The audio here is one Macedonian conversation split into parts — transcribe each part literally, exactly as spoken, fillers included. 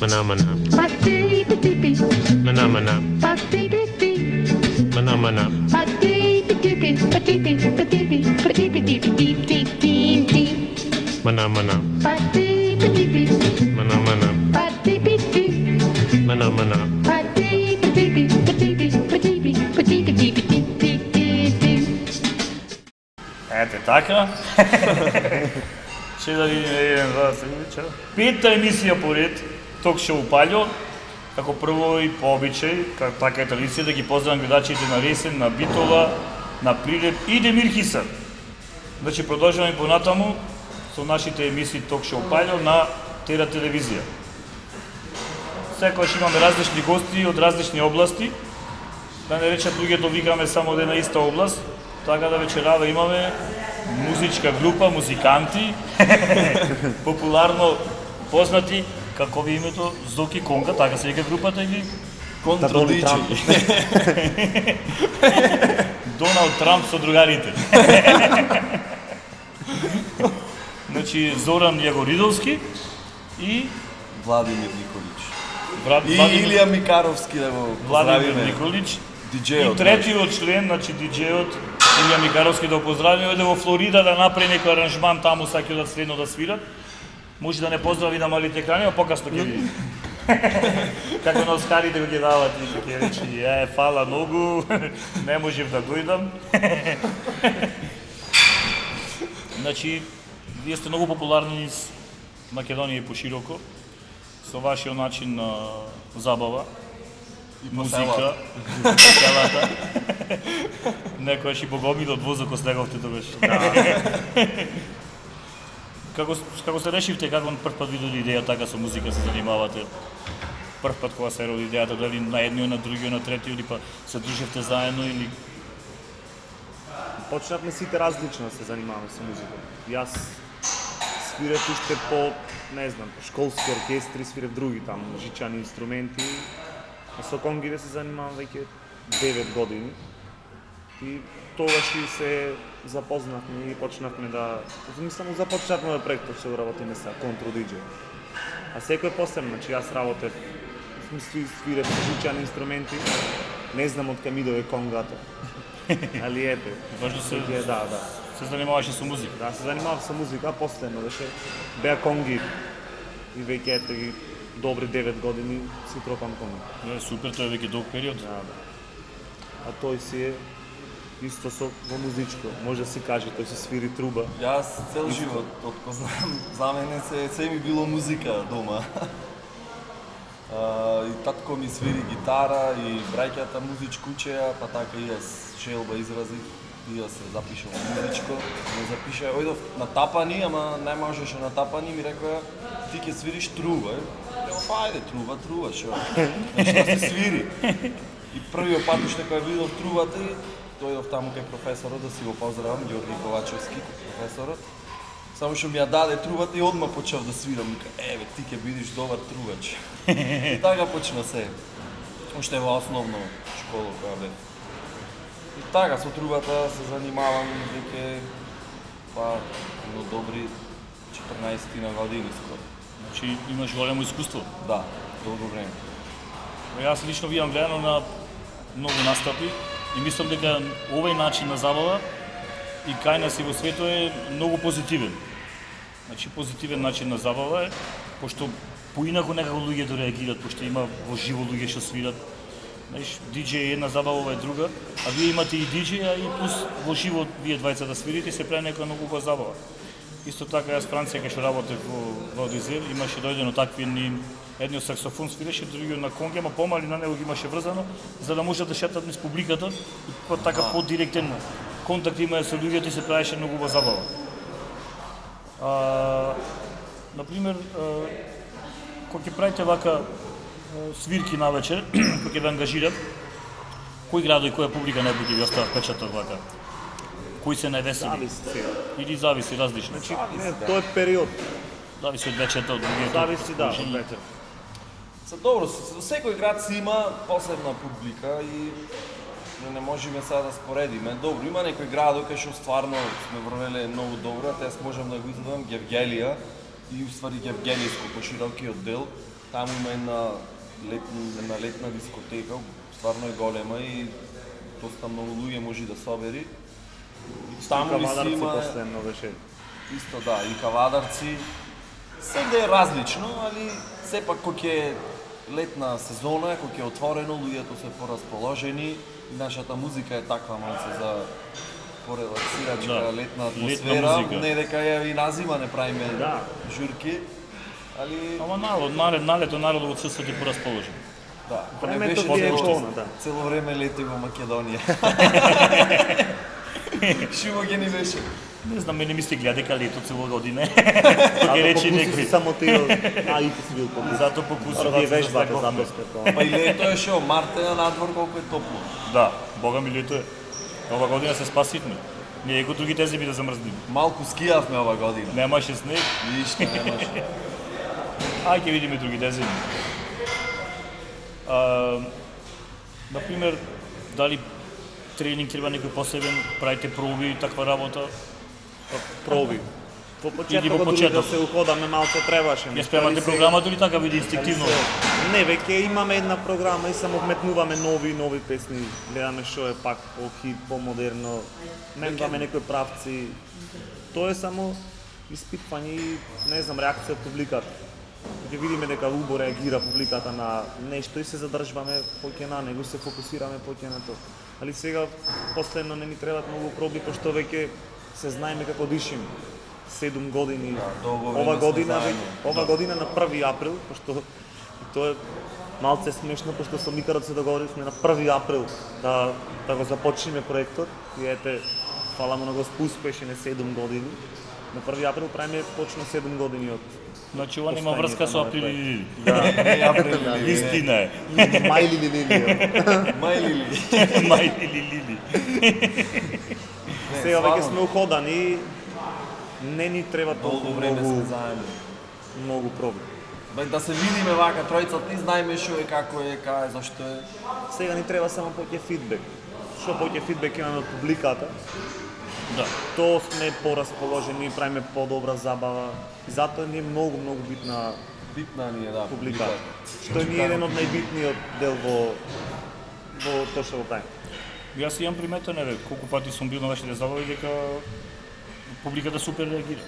Mana mana. Mana mana. Mana mana. Mana mana. Mana mana. Mana mana. Ете така. Ще да видим еден, два, три, петта емисија поред ток шоу Паљо. Како прво и по обичај, како така е традиција, да ги поздравам гледачите на Ресен, на Битола, на Прилеп и Демир Хиса. Значи продолжуваме понатаму со нашите емисии ток шоу Паљо на Тера телевизија. Секогаш имаме различни гости од различни области. Да не речат луѓето викаме само од една иста област, така да вечерава имаме музичка група, музиканти, популарно познати, како ви името, Зоки Конга, така се вика групата или? Контродичи. Доналд Трамп со другарите. Значи Зоран Јагоридовски и Владимир Николич. Брат, И Владимир... Илија Микаровски да го Владимир поздравиме. Николич. Диджејот. И третиот член, значи диджејот Илија Микаровски да го поздравиме, оде во Флорида да направи некој аранжман таму, саќе да следно да свират. Може да не поздрави на малите екрани, а покасно ќе види. Како на Оскарите го ќе дават и ќе речи, е, фала многу, не можев да дојдам. Значи, вие сте многу популарни из Македонија и пошироко, со вашиот начин на забава, И музика, по селата. Некојаш и богомил од возокот слеговте тогаш. Како како се решивте, како прв пат ви дојде идеја така со музика се занимавате? Прв пат кога се роди идејата, дали на едниот, на другиот, на третиот, или па се дружевте заедно или Почнавме сите различно да се занимаваме со музика. Јас свирев уште по, не знам, школски оркестри, свирев други там музичани инструменти. А со конгите се занимавам веќе девет години. И тогаш и се запознавме и почнавме да... Мислам, започнавме да проектот што работиме са контродиджеј. А секој посебно, значи јас работев, мисли, свирев музичани инструменти, не знам од кај ми дојде конгата. Али ете, важно се е, да, да. се занимаваше со музика? Да, се занимавав со музика, а последно беше беа конги. И веќе ете ги добри девет години си тропам конги. Е, супер, тоа е веќе долг период. Да, да. А тој си е исто со во музичко. Може да си каже, тој си свири труба. Јас цел живот, откако знам, за мене се, се ми било музика дома. А, и татко ми свири гитара, и браќата музичко учеа, па така и јас желба изразив, и јас се запишав во музичко. Ме запиша, ојдов на тапани, ама не можеше на тапани, ми рекоа, ти ќе свириш труба. Ја, па ајде, труба, труба, шо? Што се свири? И првиот пат уште кога видов трубата, и дојдов таму кај професорот да си го поздравам, Ѓорги Ковачевски, професорот. Само што ми ја даде трубата и одма почнав да свирам, вика, еве, ти ќе бидеш добар трубач. И така почна се. Уште во основно школа која бев. И така со трубата се занимавам веќе па едно добри четрнаесет на години скоро. Значи имаш големо искуство. Да, долго време. Јас лично видам гледано на многу настапи и мислам дека овој начин на забава и кај нас и во светот е многу позитивен. Значи позитивен начин на забава е, пошто поинаку некако луѓето реагираат, пошто има во живо луѓе што свират. Знаеш, диџеј е една забава, ова е друга, а вие имате и диџеј, а и плюс во живо вие двајца да свирите се прави некоја многу убава забава. Исто така јас Франција кај што работев во во Одизел, имаше дојдено такви ни едниот саксофон свиреше, другиот на конги, ама помали на него ги имаше врзано, за да можат да шетат низ публиката и по така подиректен контакт имае со луѓето и се правеше многу убава забава. А, например, кога ќе правите вака свирки навечер, кога ќе ве ангажират, кој градој и која публика најбоље ќе ви остават впечаток вака? Кои се највесели? Зависи сега. Или зависи различно? Значи, не, тоа е период. Зависи од вечерта, од другиот. Зависи, да, од вечер. Са добро, со секој град си има посебна публика и не можеме сега да споредиме. Добро, има некои градови кај што стварно сме врвеле многу добро, а јас можам да го изведам Гевгелија и уствари Гевгелијско поширокиот дел. Таму има една летна, една летна дискотека, стварно е голема и доста многу луѓе може да собери. Таму ли си има последно беше. исто да, и кавадарци. Сегде е различно, али сепак кога ќе летна сезона, кога ќе е отворено, луѓето се порасположени и нашата музика е таква малце за порелаксирачка Да, летна летна атмосфера, музика. не дека ја и на зима не правиме Да. журки, али Ама народ, наред, налето народот отсутствува и поразположен. да, кога не Времето беше ти е цело, полно, да. цело време лети во Македонија. Шумо ги ни беше. Не знам, мене ми се гледа дека лето цело година. А Ќе да рече покуси некој. си само ти, а и ти си бил покуси. Зато покусував. Мора да ја се вежбате, застраховме. затоа сте тоа. Па и лето е шо, март е надвор колку е топло. Да, бога ми лето е. Ова година се спасивме. Ние го другите зими да замрзнеме. Малку скијавме ова година. Немаше снег, Ништо немаше. ај ќе видиме другите зими. А, например, дали тренинг треба некој посебен, правите проби и таква работа? Проби. Во Или почетокот во дури да почеток. се уходаме малку требаше. Ја спремате програмата или така биде инстинктивно? Не, веќе имаме една програма и само вметнуваме нови нови песни. Гледаме што е пак по-хит, по-модерно. Менуваме некои правци. Тоа е само испитвање и не знам реакција од публиката. Ќе видиме дека убаво реагира публиката на нешто и се задржуваме поќе на него, се фокусираме поќе на тоа. Али сега последно не ни требаат многу проби, пошто веќе се знаеме како дишиме. седум години. долго време Ова сме година, заедно. веќе- ова година на први април, пошто и тоа е малце смешно, пошто со Микарот се договоривме на први април да да го започнеме проектот. И ете, фала му на Господ, успешен е седум години. На први април правиме точно седум години од Значи, ова нема Постојањето врска со на април овој или лили. Да, Не ја прелили. Истина е. мајли ли лили. Мај лили. Мај или лили. Сега стварно. веќе сме уходани, не ни треба Долго толку време сме многу, заедно. многу проби. Бе, да се видиме вака тројцата, ни знаеме што е, како е, кај е, зашто е. Сега ни треба само поќе фидбек. Што поќе фидбек имаме од публиката, Да. тоа сме порасположени, правиме подобра забава. И затоа ни е многу, многу битна Битна ни е, да, публиката. Што ни е еден од најбитниот дел во во тоа што го правиме. Јас имам приметено, бе, колку пати сум бил на вашите забави дека публиката супер реагира.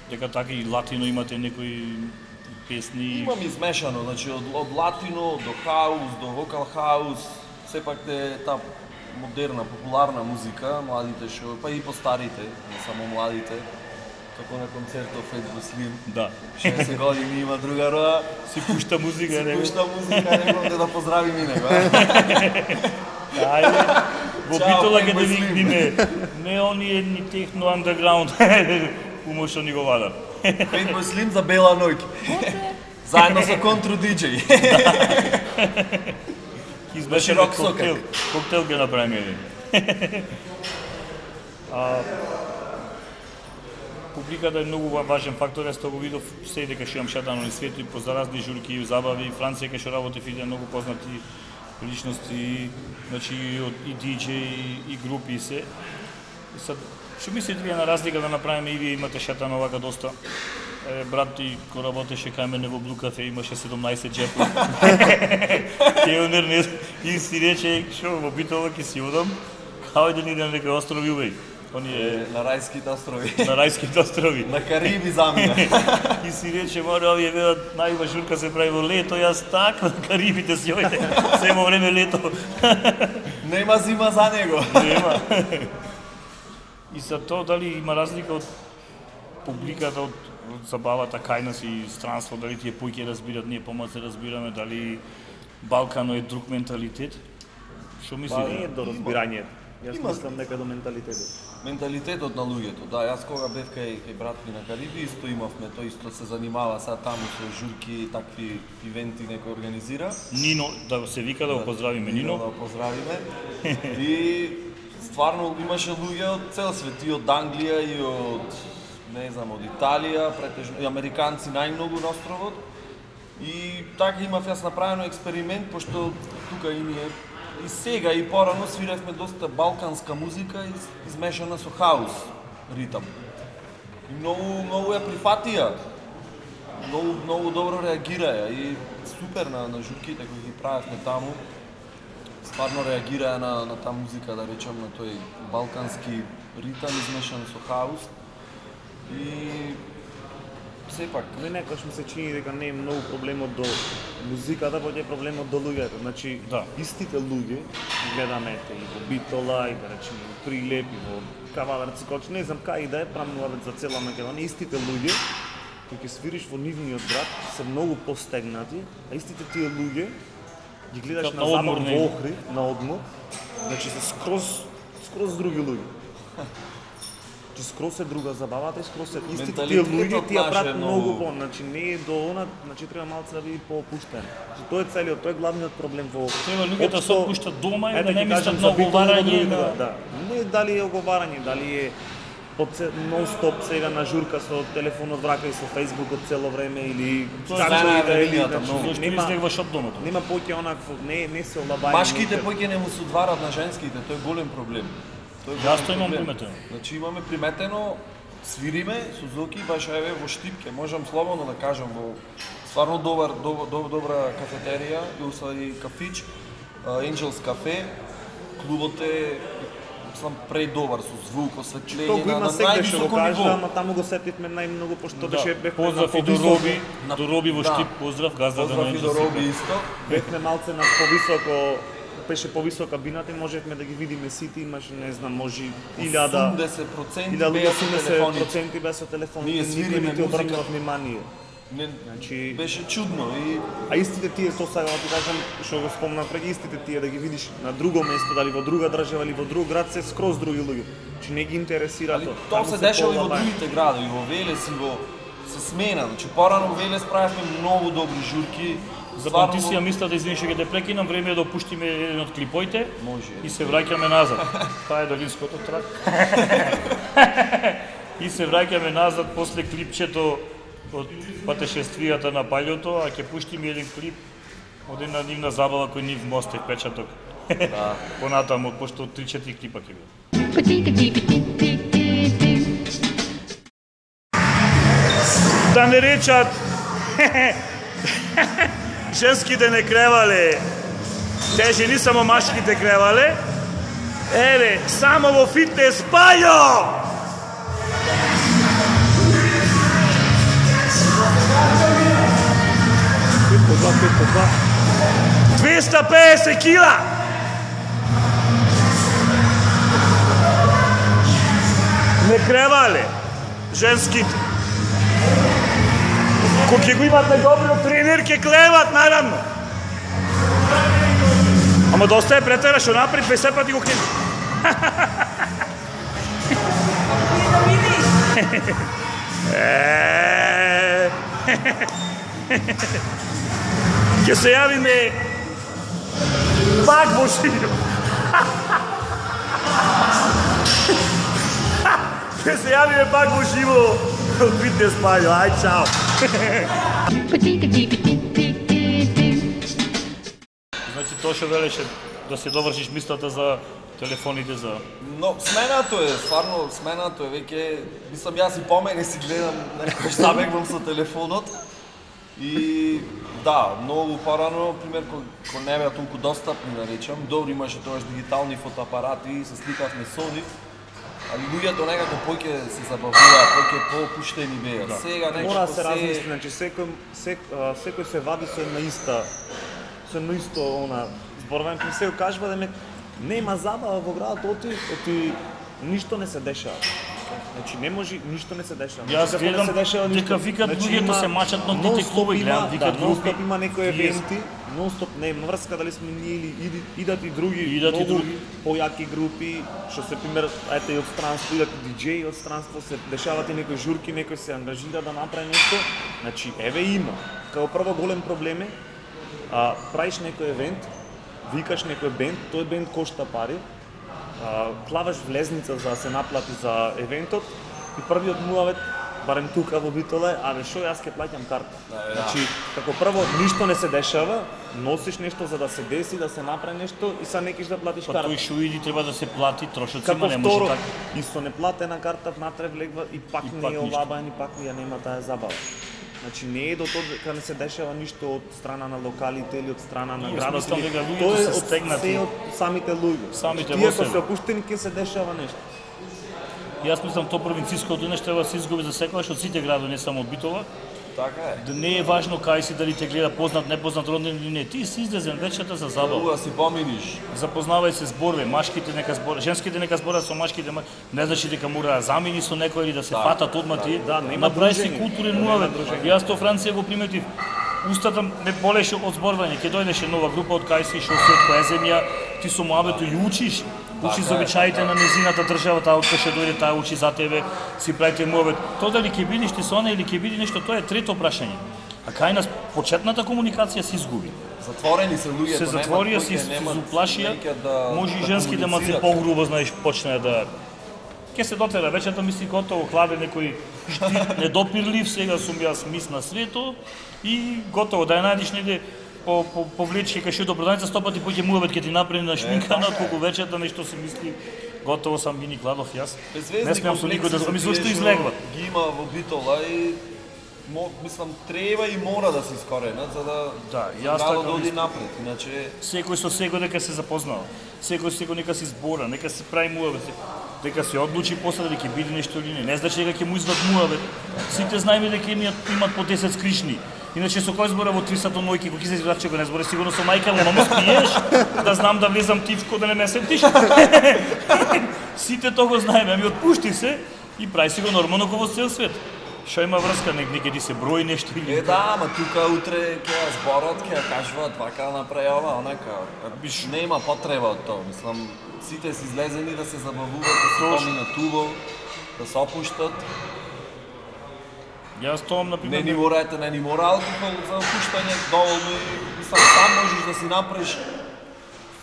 Дека така и латино имате некои песни. Имам измешано, значи од, од латино до хаус, до вокал хаус, сепак е таа модерна, популарна музика, младите што, па и постарите, не само младите, како на концертов Фет Буслим. Да. шеесет години има другарова, Си пушта музика, си него. пушта музика, некој да поздравим и него. Ајде. Во Чао, битола Фет ќе да Буслим. викниме. Не оние ни техно андерграунд. Умо што ни го вадат. Фет Буслим за бела ноќ. Заедно со контру диџеј. Избеше рок коктейл. сокак. Коктейл ќе направиме еден. А, публиката е многу важен фактор, јас тоа го видов се дека што имам шатано на светот и по заразни журки и забави, Франција кај што работев и многу познати личности, значи и од и диџеи и групи и се. И сад, што мислите вие на разлика да направиме и вие имате шатано вака доста? Е, брат ти кој работеше кај мене во Блу кафе имаше седумнаесет џепи. Келнер не и си рече што во Битола ќе си одам, као да ни идем некој острови увеј. Оние На рајските острови. на рајските острови. На Кариби замина. И си рече, море, овие велат, најва журка се прави во лето, јас така на Карибите си ојде, семо време лето. Нема зима за него. Нема. И за тоа дали има разлика од публиката, од, од забавата кај нас и странство, дали тие појќе разбират, ние помалку разбираме, дали Балкано е друг менталитет? Што Па не е мислите? до разбирање. Јас Има- мислам дека до менталитетот. Менталитетот на луѓето, да, јас кога бев кај, кај брат ми на Кариби, исто имавме, тој исто се занимава сега таму со журки и такви ивенти некој организира. Нино, да се вика да го поздравиме, Да Нино. го поздравиме. И стварно имаше луѓе од цел свет, и од Англија, и од, не знам, од Италија, претежно, и американци најмногу на островот. И така имав јас направено експеримент, пошто тука и ние и сега и порано свиревме доста балканска музика из- измешана со хаус ритам. И многу многу ја прифатија. многу многу добро реагираја и супер на на журките кои ги правевме таму. Стварно реагираја на на таа музика, да речем, на тој балкански ритам измешан со хаус. И сепак Не некош ми се чини дека не е многу проблемот до музиката, поќе е проблемот до луѓето. Значи, Да. истите луѓе ги гледаме и во Битола, и да речеме и Прилеп, и во Кавадарци, Коч, не знам кај да е, прамнуваме за цела Македонија, истите луѓе кои ќе свириш во нивниот град се многу постегнати, а истите тие луѓе ги гледаш Како на на забав одмор негде. во Охрид, на одмор, значи се скроз скроз други луѓе. Значи скроз е друга забавата и скроз е истите тие Менталитетот луѓе тие наш е прават многу- многу по, значи не е до она, значи треба малце да биде поопуштен. Значи тоа е целиот, тоа е главниот проблем во Треба луѓето да се општо- опуштат дома и ете да не ќе мислат кажам на за Битола и во оговарање другите, на... да. Не дали е оговарање, дали е под нон-стоп сега на журка со телефонот в рака и со фејсбукот цело време или Тоа како стана и да е, времењата значи, многу. Зошто нема излегваш од домото? нема поќе онакво, не не се олабајано. Машките поќе не му се одварат на женските, тоа е голем проблем. Тоа е Јас голем тоа имам проблем. приметено. Значи имаме приметено, свириме со Зоки, баш еве во Штипке, можам слободно да кажам, во стварно добар, добра, добра, добра кафетерија, и усади кафич, Angels кафе, клубот е сам предобар со звук, Тоа осветление го на, има на секогаш што го највисоко кажа, ниво. ама таму го сетивме најмногу пошто Да. беше бевме Поздрав на и до повисоко- Роби, на- до Роби во да. Штип, поздрав, газда да Поздрав и до Роби исто. бевме малце на повисоко, беше повисока бината и можевме да ги видиме сите, имаше не знам, може илјада осумдесет проценти илјада беа со осумдесет телефони. проценти беа со телефони, Ние никој свириме не ти музика. обрнува внимание. Не, Значи, беше чудно и а истите тие, тоа сега да ти кажам, што го спомнав преди, истите тие да ги видиш на друго место, дали во друга држава или во друг град, се скроз други луѓе. Значи не ги интересира али тоа. тоа Таму се дешава и во полабај. другите градови, во Велес и во се смена. Значи порано во Велес правевме многу добри журки. Запамти си ја мисла да извини што ќе те прекинам, време е да опуштиме еден од клипоите Може. и се враќаме назад. Таа е долинското трак. И се враќаме назад после клипчето од патешествијата на паѓото, а ќе пуштиме еден клип од една нивна забава кој нив мостев печаток. Да. Понатаму, пошто три-четири клипа ќе биде. Да не речат женските не кревале, те жени само машките кревале. Еве, само во фитнес пајо! Пет по два, пет по два. двеста педесет кила! Не кревале, женските. Кога ќе го имате добро тренер, ќе клеват, наравно. Ама доста е претера, што напред дваесет пати го крене. Е, ќе се јавиме пак во живо. Ќе се јавиме пак во живо од фитнес пајо. Ај, чао. Значи тоа што велеше да се довршиш мислата за телефоните за Но сменато е, стварно сменато е веќе, мислам јас и помене си гледам, некој забегвам со телефонот. И да, многу порано, пример, кога ко не беа толку достапни, да речам, добро имаше тоаш дигитални фотоапарати, се сликавме со нив, али луѓето некако поќе се забавуваат, поќе поопуштени беа. Да. Сега Мора нешто да се се размисли, значи секој сек, а, секој се вади со една иста со едно исто она зборување, кој се кажува да ме нема забава во градот, оти, оти ништо не се дешава. Значи не може, ништо не се дешава. Јас Значи, како не гледам се дешава ништо. дека викат луѓето има се мачат на тите нон-стоп клубови, има- гледам, викат да, нон-стоп групи, има некои вие- евенти, нон-стоп не има врска дали сме ние или иди, идат и други, Идат и многу други. појаки групи, што се пример, ете и од странство, идат и диџеи од странство, се дешават и некои журки, некој се ангажира да направи нешто. Значи, еве има. Као прво голем проблем е, а, правиш некој евент, викаш некој бенд, тој бенд кошта пари, а, клаваш влезница за да се наплати за евентот и првиот муавет, барем тука во Битола, е, абе шо јас ќе плаќам карта. Значи, како прво ништо не се дешава, носиш нешто за да се деси, да се направи нешто и са некиш да платиш Па карта. тој што иди треба да се плати, трошоци Како има, не може второ, така. и со неплатена карта внатре влегва и пак И не пак е ништо. олабаен и пак ја нема таа забава. Значи не е до тоа дека не се дешава ништо од страна на локалите или од страна на Јас градот. мислам или- дека луѓето Тоа е се од стегнати. се од самите луѓе. Самите Тие во ако себе. се опуштени ќе се дешава нешто. Јас мислам тоа провинцијското нешто треба да се изгуби за секогаш од сите градови, не само од Битола. Така е. Да не е важно кај си, дали те гледа познат, непознат, роднин или не. Ти си излезен вечерта за забава. Уа си поминиш. Запознавај се зборве, машките нека зборат, женските нека зборат со машките, ма- не значи дека мора да замени со некој или да се фатат одма тие. да, нема Направи си дружење. културен Нема муавет. дружење. Јас тоа Франција го приметив. Устата ме болеше од зборвање. Ќе дојдеше нова група од кај си, што си од која земја, ти со муабето ја учиш. Учиш за обичаите на незината држава, таа од кај ќе дојде, таа учи за тебе, си правите муавет. Тоа дали ќе бидеш ти со она или ќе биде нешто, тоа е трето прашање. А кај нас почетната комуникација се изгуби. Затворени се луѓето, Се затворија, се се уплашија, може и женските малце погрубо, знаеш, почнаа да ќе се дотера вечерта, мисли готово, хладе некој штит, недопирлив, сега сум јас мис на свето и готово, да ја најдеш негде по, по, повлечи кај што до продавница сто пати поќе муабет ќе ти направи на шминкана, отколку вечерта нешто се мисли, готово сам Вини Кладов јас. Не смеам со никој да зами зашто излегва. Ги има во Битола и мо, мислам треба и мора да се искоренат за да Да, јас градот така да оди мислам. напред. Иначе Секој со секој дека се запознава. Секој со секој нека се збора, нека се прави муабет. Дека се одлучи после дали ќе биде нешто или не. Не значи дека ќе му извад муабет. Сите знаеме дека имаат имат по десет скришни. Иначе со кој збора во три сато ноќи, кога ќе се извраче го не збора сигурно со мајка му, мамо спиеш, да знам да влезам тивко да не ме сетиш. Сите тоа го знаеме, ами отпушти се и прави си го нормално како во цел свет. Што има врска, нек неке ти се брои нешто или е да, ама тука утре ќе ја зборат, ќе ја кажуваат вака направи ова, онака. Биш. Нема потреба од тоа, мислам сите се излезени да се забавуваат, да се Точно. поминат убаво, да се опуштат. Јас тоа на Не пример ни мора, ете, не ни мора алкохол за опуштање, доволно и мислам сам можеш да си направиш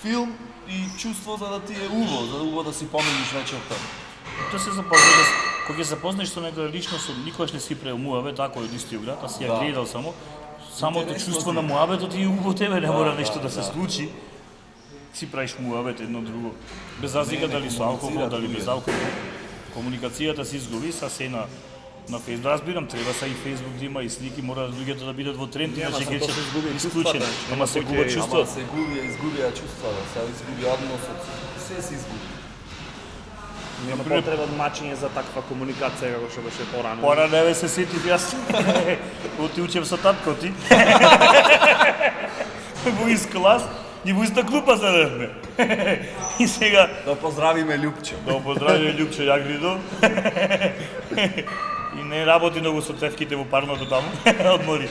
филм и чувство за да ти е убаво, за да убаво да си поминиш вечерта. Тоа се запознаш, кога ќе се запознаеш со некоја лично, со никогаш не си правил муабет, ако од истиот град, а си ја Да. гледал само. Самото Интересно чувство си. на муабетот и убаво тебе, не мора да, нешто да се да. случи. Си правиш муабет едно друго. Без разлика Не, не дали со алкохол, комуницираат дали без луѓето. алкохол. Комуникацијата се изгуби, са се на на Фејсбук. Разбирам, треба са и Фејсбук да има и слики, мора луѓето да бидат во тренд, Нема, иначе само ќе тоа се изгуби ќе чувствата, исклучен. значи, Ама нема се кој губа ќе- чувство. Ама се губи, изгубија чувства, да се изгуби односот, се се изгуби. Нема Например- потреба од мачење за таква комуникација како што беше порано. Пора не ве се сетив јас. Оти учев со татко ти. Во ист клас и во иста клупа седевме. И сега Да поздравиме Љупче. да го поздравиме Љупчо Јагридов. И не работи многу со цевките во парното таму, одмори.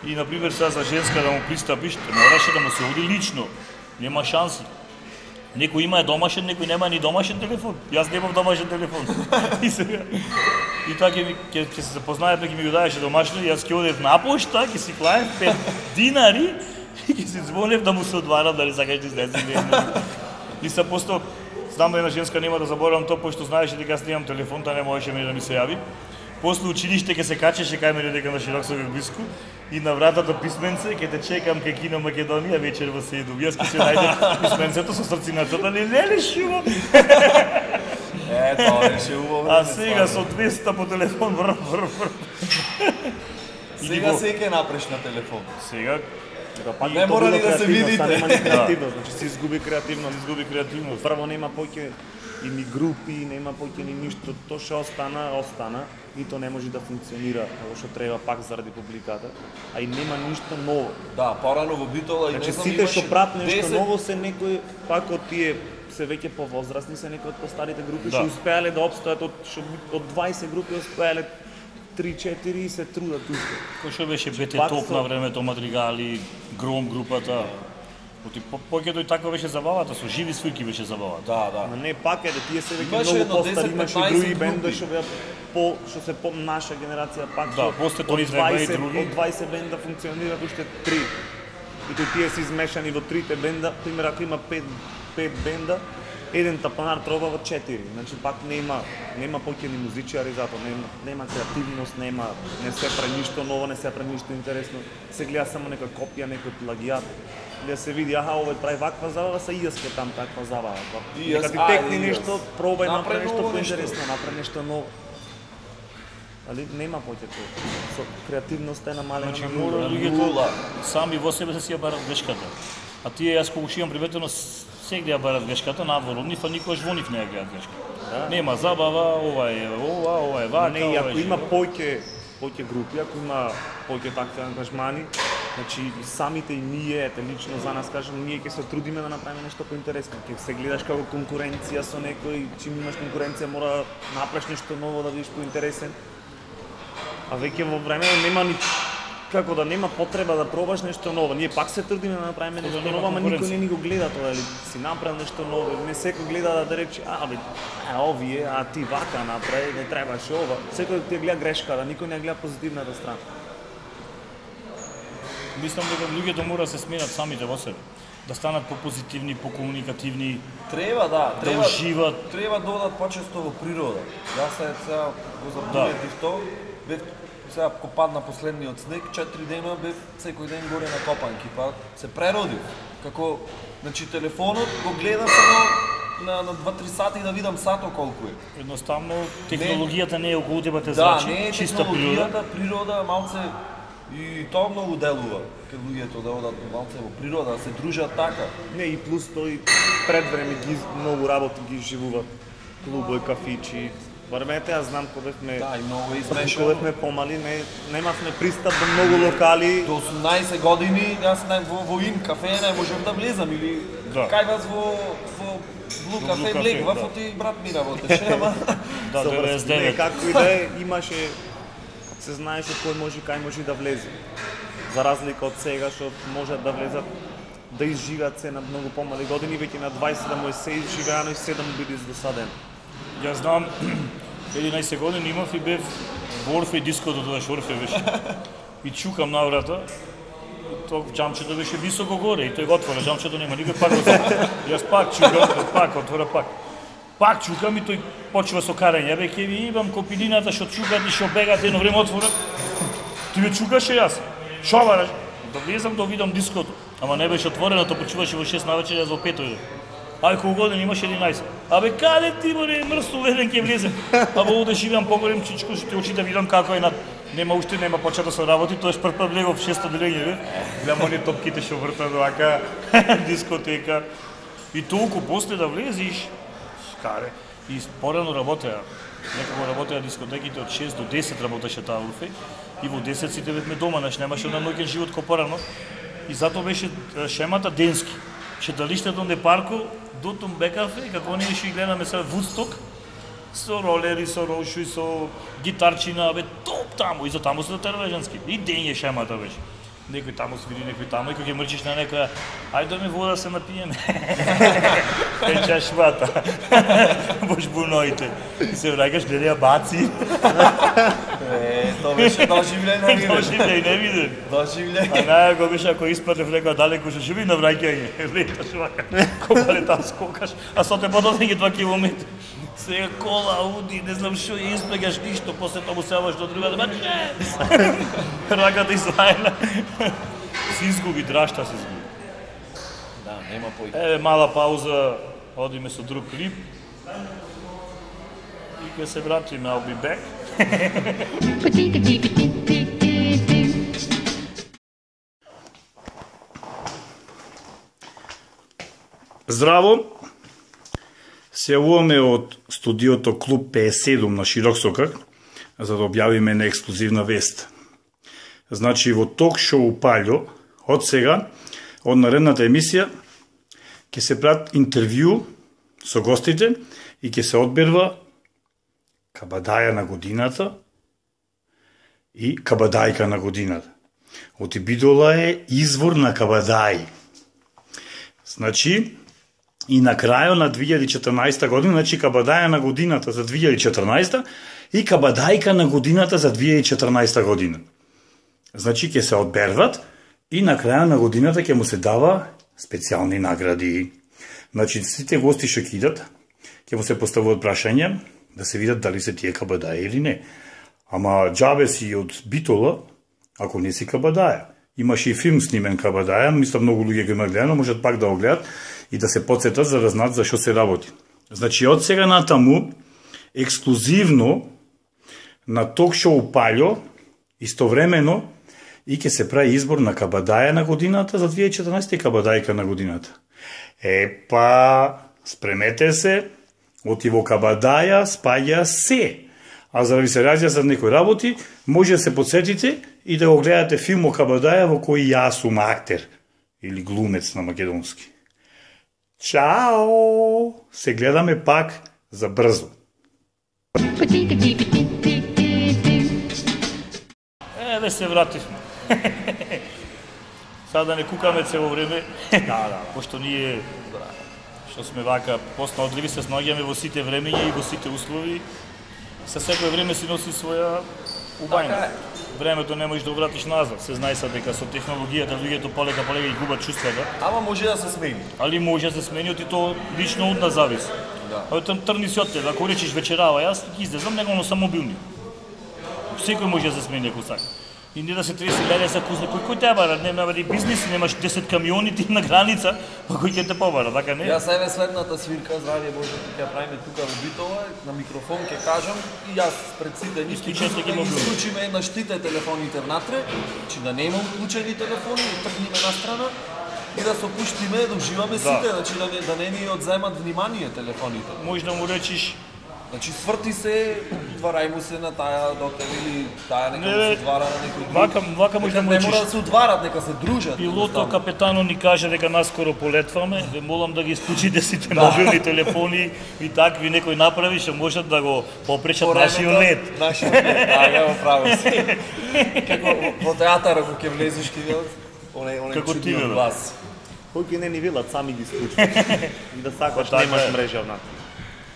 И на пример сега за женска да му пристапиш, те мораше да му се оди лично. Нема шанси. Некој има е домашен, некој нема ни домашен телефон. Јас немав домашен телефон. И сега и така ќе ми ќе ќе се запознаеме, ќе ми го даеше домашно и јас ќе одев на пошта, ќе си клаев пет динари и ќе си звонев да му се одварам дали сакаш да излезе или не. И се посто знам да една женска нема да заборавам тоа, пошто знаеше дека јас немам телефон, таа не можеше мене да ми се јави. После училиште ќе се качеше кај мене дека на широк со блиску и на вратата писменце ќе те чекам кај Кино Македонија вечер во седум. Јас ќе се најдам писменцето со срцината, не леле шумо. Е, тоа беше убаво. А време, сега со стварно. двеста по телефон вр вр вр. Сега се ќе напреш на телефон. Сега Да, пак Не и тоа мора било ни да се креативност, видите. а нема ни креативност, значи се изгуби креативност. изгуби креативност. Прво нема поќе и ни групи, нема поќе ни ништо, тоа што остана, остана и тоа не може да функционира како што треба пак заради публиката, а и нема ништо ново. Да, порано во Битола и Значи не знам сите што имаше прават нешто десет ново се некои пак од тие се веќе повозрастни се некои од постарите групи Да. што успеале да опстојат од што од дваесет групи успеале три-четири и се трудат уште. кој што беше Бете Пак Топ со- на времето, Мадригали, Гром групата. Оти поќе и така беше забавата, со живи свирки беше забавата. Да, да. Ама не пак е да тие се веќе Имаше многу едно постари, десет имаше и петнаесет други бенда групи. што беа по што се по наша генерација пак Да, што после од Тони Зеба и дваесет други. од дваесет бенда функционираат уште три. И тој тие се измешани во трите бенда, пример ако има пет пет бенда, еден тапанар троба во четири. Значи пак нема нема поќени музичари затоа нема нема креативност, нема не се прави ништо ново, не се прави ништо интересно. Се гледа само некоја копија, некој плагијат. Да се види, аха, овој прави ваква забава, са и јас ке там таква забава. И јас, Нека ти ајде, текни и јас. нешто, пробај Направи направи нешто ново нешто. поинтересно, направи нешто ново. али нема поќето. Со креативноста е намалена Значи, на мора нула. луѓето сами во себе да си ја барат грешката. А тие, јас кога шивам приметено, сегде ја барат грешката, надвор од нив, а никогаш во нив не ја гледат грешката. Да. Нема забава, ова е ова, ова е вака, Не, и ова ако е има живот. поќе поќе групи, ако има поќе такви ангажмани, значи и самите и ние, ете лично за нас кажам, ние ќе се трудиме да направиме нешто поинтересно. Ќе се гледаш како конкуренција со некој, чим имаш конкуренција мора да направиш нешто ново да бидеш поинтересен. А веќе во време нема ни како да нема потреба да пробаш нешто ново. Ние пак се трудиме да направиме нешто нема ново, ама никој конкуренција. не ни го гледа тоа, или си направил нешто ново. Не секој гледа да, да рече, а бе, а овие, а ти вака направи, не требаше ова. Секој ти ја гледа грешката, никој не ја гледа позитивната страна. Мислам дека луѓето мора да се сменат самите во себе. Да станат попозитивни, покомуникативни, Треба, да, да треба. уживат. Треба да одат почесто во природа. Јас се сега го заприметив тоа. Бев сега кога падна последниот снег, четири дена бев секој ден горе на копанки, па се преродив. Како, значи телефонот го гледам само на на два-три сати да видам сато колку е. Едноставно технологијата не е околу тебе те Да, зрачи, не е чиста природа. технологијата, природа малце и тоа многу делува кај луѓето да одат малце во природа, да се дружат така. Не, и плюс тој пред време ги многу работи ги живуваат. Клубови, кафичи. Бармете, јас знам кога бевме Да, и многу е кога измешано. бевме помали, не немавме пристап до многу локали. До осумнаесет години јас не, во, во Ин кафе не можев да влезам или Да. кај вас во во Блу Во кафе Блу влегвав, кафе, оти брат ми работеше, ама Да, Со врз- деветдесет и Не, девет. както и да е, имаше се знаеше кој може и кај може да влезе. За разлика од сега што можат да влезат да изживеат се на многу помали години, веќе на дваесет да му е се изживеано и седам биде издосаден. Јас знам, единаесет години имав и бев во Орфеј диското, тогаш Орфеј беше. И чукам на врата, тоа џамчето беше високо горе и тој го отвора, џамчето нема никој, пак го затвора. Јас пак чукам, пак отвора, пак. Пак чукам и тој почва со карање, бе ќе ви имам копилината што чукат и што бегат, едно време отвора. Ти ме чукаше јас. Шо бараш? Да влезам да видам диското. Ама не беше отворено, тоа почуваше во шест навечер, јас во пет дојдов. Ај колку години имаш единаесет. Абе каде ти море мрсто еден ќе влезе. Абе оде живеам поголем чичко, што ти очите видам како е на нема уште нема почета со работи, тоа е прв пат влегов шесто делење, бе. Гледам оние топките што вртат вака, дискотека. И толку после да влезиш, скаре. И порано работеа. Некако работеа дискотеките од шест до десет работеше таа Орфеј. И во десет сите бевме дома, значи немаше на ноќен живот ко порано. И затоа беше е, шемата денски. Шеталиштето на парку до Тумбекафе, како ние што ги гледаме сега Вудсток, со ролери, со роши, со гитарчина, бе топ таму, и за таму се дотерва женски. И ден е шемата беше. Некој таму свири, некој таму, и кога ќе мрчиш на некоја, ајде да ми вода се напиеме. Печа швата. Во жбуноите. И се враќаш, гледа ја баци. е, тоа беше доживлено Тоа виден. живе и не виден. Доживлено. А најако беше ако испадне в некоја далеко што живи на враќање. Леташ вака, кога там скокаш, а со те пододење два километри. Сега кола, ауди, не знам што, и исплегаш ништо, после тоа му севаш до другата, ба не! Раката излајна. Се изгуби, драшта се изгуби. Да, нема пој. Еве мала пауза, одиме со друг клип. И ќе се вратиме, I'll be back. Здраво! Се јавуваме од студиото Клуб петдесет и седум на Широк Сокак, за да објавиме на ексклузивна вест. Значи, во ток-шоу Паљо, од сега, од наредната емисија, ќе се прават интервју со гостите и ќе се одберва кабадаја на годината и кабадајка на годината. Оти Бидола е извор на кабадај. Значи, и на крајот на две илјади и четрнаесета година, значи кабадаја на годината за две илјади и четрнаесета и кабадајка на годината за две илјади и четрнаесета година. Значи ќе се одберват и на крајот на годината ќе му се дава специјални награди. Значи сите гости што ќе идат, ќе му се поставуваат прашања да се видат дали се тие кабадаја или не. Ама џабе си од Битола, ако не си кабадаја. Имаше и филм снимен кабадаја, мислам многу луѓе го има гледано, можат пак да го гледат и да се подсетат за да знаат за што се работи. Значи од сега натаму ексклузивно на ток-шоу Паљо, истовремено и ќе се прави избор на кабадаја на годината за две илјади и четрнаесетта и кабадајка на годината. Епа, спремете се, оти во кабадаја спаѓа се. А за да ви се разјаснат некои работи, може да се подсетите и да го гледате филм о кабадаја во кој јас сум актер или глумец на македонски. Чао! Се гледаме пак за брзо. Еве се вративме. Сега да не кукаме цело време. Да, да. Пошто ние што сме вака поснаодливи се снаоѓаме во сите времења и во сите услови. Со секој време си носи своја убајна. Времето не можеш да вратиш назад. Се знае са дека со технологијата луѓето полека полека ги губат чувствата. Ама може да се смени. Али може да се смени и то лично од нас зависи. Да. А тоа трни си од тебе. Ако речеш вечерава, јас ги излезам, него но сам мобилни. Секој може да се смени ако сака. И не да се треси леле за кузне, кој кој те бара, нема да бизнес, немаш десет камиони ти на граница, па кој ќе те побара, така не? Јас еве следната свирка, здравје Боже, ќе ја правиме тука во Битола, на микрофон ќе кажам и јас пред сите ништо Исклучете ги ќе мобилни. исклучиме на штите телефоните внатре, че да нема уклучени телефони, да тргниме на страна и да се опуштиме, да уживаме сите, значи да не, да не ни одземат внимание телефоните. Може да му речиш, Значи сврти се, дварај му се на таа дотер или таа нека Не, му се бе, двара на некој друг. вака- вака може да Нека му не речиш. мора да се удварат, нека се дружат. пилото, едноставно. капетано ни каже дека наскоро полетваме, ве молам да ги исклучите сите мобилни телефони и такви некој направи, што можат да го попречат По нашиот времето, лет. Нашиот лет, да, ја право си. Како во- во театар ако ќе влезеш ќе видат оне оне Како ти, чудниот бе. глас. Кој ќе не ни велат, сами ги исклучуваш. И да сакаш, Па така немаш е. мрежа внатре.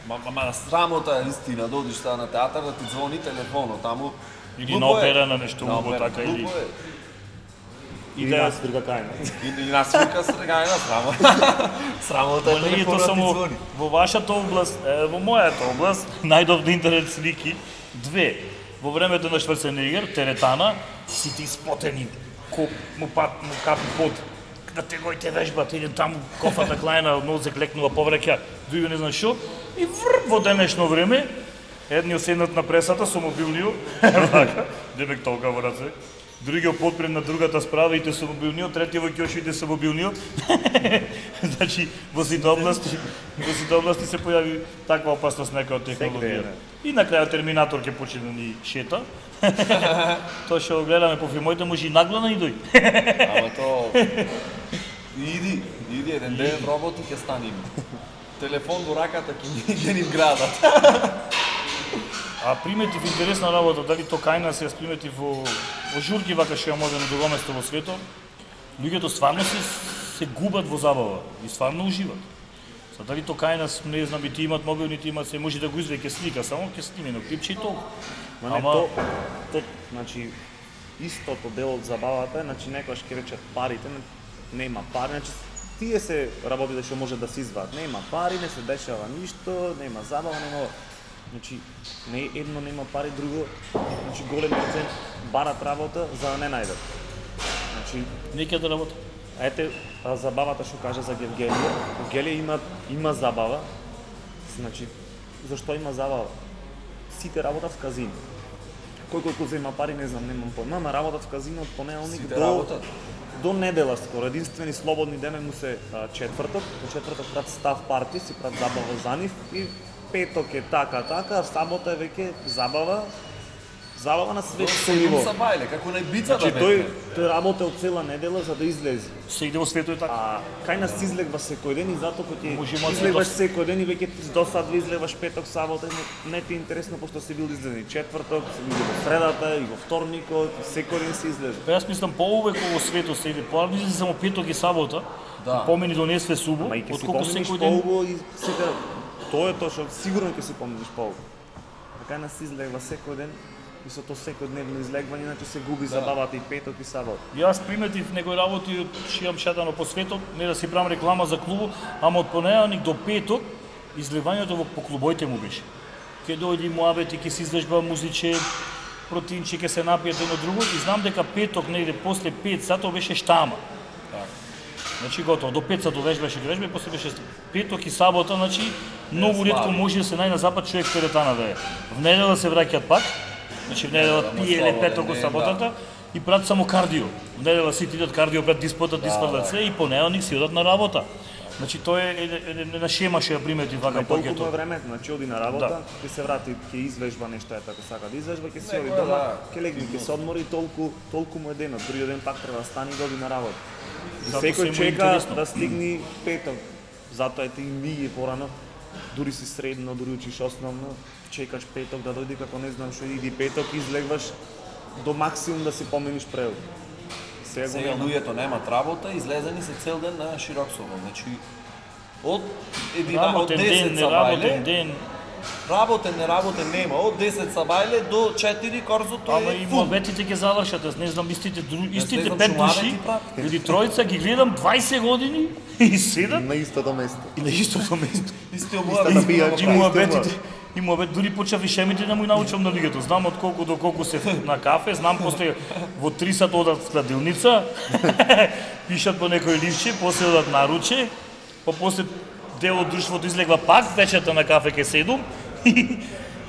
Ма, ма, ма срамота е истина, додиш сега на театар да ти звони телефонот, таму Или глупо на е. опера, на нешто На убаво опера, така, или- глупо е. И И да да, јас друга кајна. И, и нас вика срегајна срамо. Срамота е Ма не е тоа телефонот ти само звони. во вашата област, е, во мојата област, најдобри интернет слики, две. Во времето на Шварценегер, теретана, сите испотени, коп, му, пат, му капи пот, да те гојте вежбат, идем таму, кофата клајна, нозек лекнува, повраќа, други не знам шо, и врп во денешно време, едниот седнат на пресата со мобилниот, вака, дебек толка во раце, другиот подпред на другата справа ите со мобилниот, третиот во ќошите со мобилниот. Значи, во сите области, во сите области се појави таква опасност нека од технологија. Секаде, И на крајот Терминатор ќе почне да ни шета. Тоа што го гледаме по филмоите може и наглана и дој. Ама то иди, иди еден ден роботи ќе стане има. Телефон во раката ќе ни ќе ни вградат. А приметив интересна работа, дали то кај нас јас приметив во, во журки вака што ја може на друго место во светот, луѓето стварно се, се губат во забава и стварно уживат. Са дали то кај нас, не знам, и ти имат мобилни, ти имат се, може да го извеќе слика, само ќе сниме на клипче и толку. Ма не, Ама- то, то, значи, истото дел од забавата е, значи, некојаш ќе речат парите, не- нема пари, значи, тие се работите што може да се извадат. Нема пари, не се дешава ништо, нема забава, нема... Значи, не едно нема пари, друго, значи, голем процент барат работа за да не најдат. Значи, Неќе да работи. ете, а, забавата што кажа за Гевгелија. Гевгелија има, има забава, значи, зашто има забава? Сите работат в казино. Кој кој кој зема пари, не знам, немам појма, ама работат в казино од понеделник Сите до, работат. до недела скоро. Единствени слободни дене му се а, четврток, по четврток прат став парти, си прат забава за нив и петок е така, така, а сабота е веќе забава, забава на светско ниво. Са бајле, како на бица Значи да тој бе. тој работел цела недела за да излезе. Се иде во светот и така. А кај нас излегва секој ден и затоа кога Може ти има излегваш цветот. секој ден и веќе ти досадва излегваш петок, сабота, не, не ти е интересно пошто си бил излезен и четврток, си бил во средата и во вторникот, и секој ден си излезе. Па јас мислам поувек во светот се иде, поарно излезе само петок и сабота, Да. помени донесве субо, Ама и ќе си отколку помниш секој ден. полго и сега тоа е тоа што сигурно ќе си помниш полго. А кај нас излегва секој ден и со тоа секојдневно излегвање, значи се губи забавата и петок и сабота. Јас приметив некои работи од шијам шатано по светот, не да си правам реклама за клубу, ама од понеделник до петок излевањето во по клубоите му беше. Ке дојди муабети, ке се излежба музиче, протинче, ке се напијат едно друго и знам дека петок негде после пет сатот беше штама. Значи готово, до пет сатот вежбаше вежба и после беше петок и сабота, значи многу ретко може да се најде на запад човек теретана да е. В недела се враќаат пак, Значи, в недела Да, пиеле слободен петок, ден, саботата и прават само кардио. В недела сите идат кардио, пред диспотат, испадат се и понеделник си одат на работа. Значи, тоа е една шема што ја примети вака Толку му е пакетот. времето, значи оди на работа, Да. ќе се врати, ќе извежба нешто е така сака да извежба, ќе си Не, оди тоа дома, да. ќе легне, ќе се одмори, толку толку му е денот. Другиот ден пак треба да стане и да оди на работа. И Затоа секој се му е чека интересно. да стигне петок. Затоа е ти вие порано, дури си средно, дури учиш основно, чекаш петок да дојде како не знам што иди петок, излегваш до максимум да си помениш превод. Сега го Сега нема. луѓето немаат работа, излезени се цел ден на широк собор. Значи од едина од Работен ден, десет не са работен бајле, ден. работен не работен нема. Од десет са бајле до четири корзото Ама е и фул. муабетите ќе завршат, аз не знам истите дру- истите знам пет што души муабети прават. или тројца ги гледам дваесет години и седат На истото место. и на истото место. Исти Истата обуват. пијачка. И муабетите, и муабет дури почав и шемите да му и научам на луѓето. Знам од колку до колку се на кафе, знам после во три сат одат в кладилница, пишат по некој ливче, после одат наруче, па после дел од друштвото излегва пак вечерта на кафе ке седум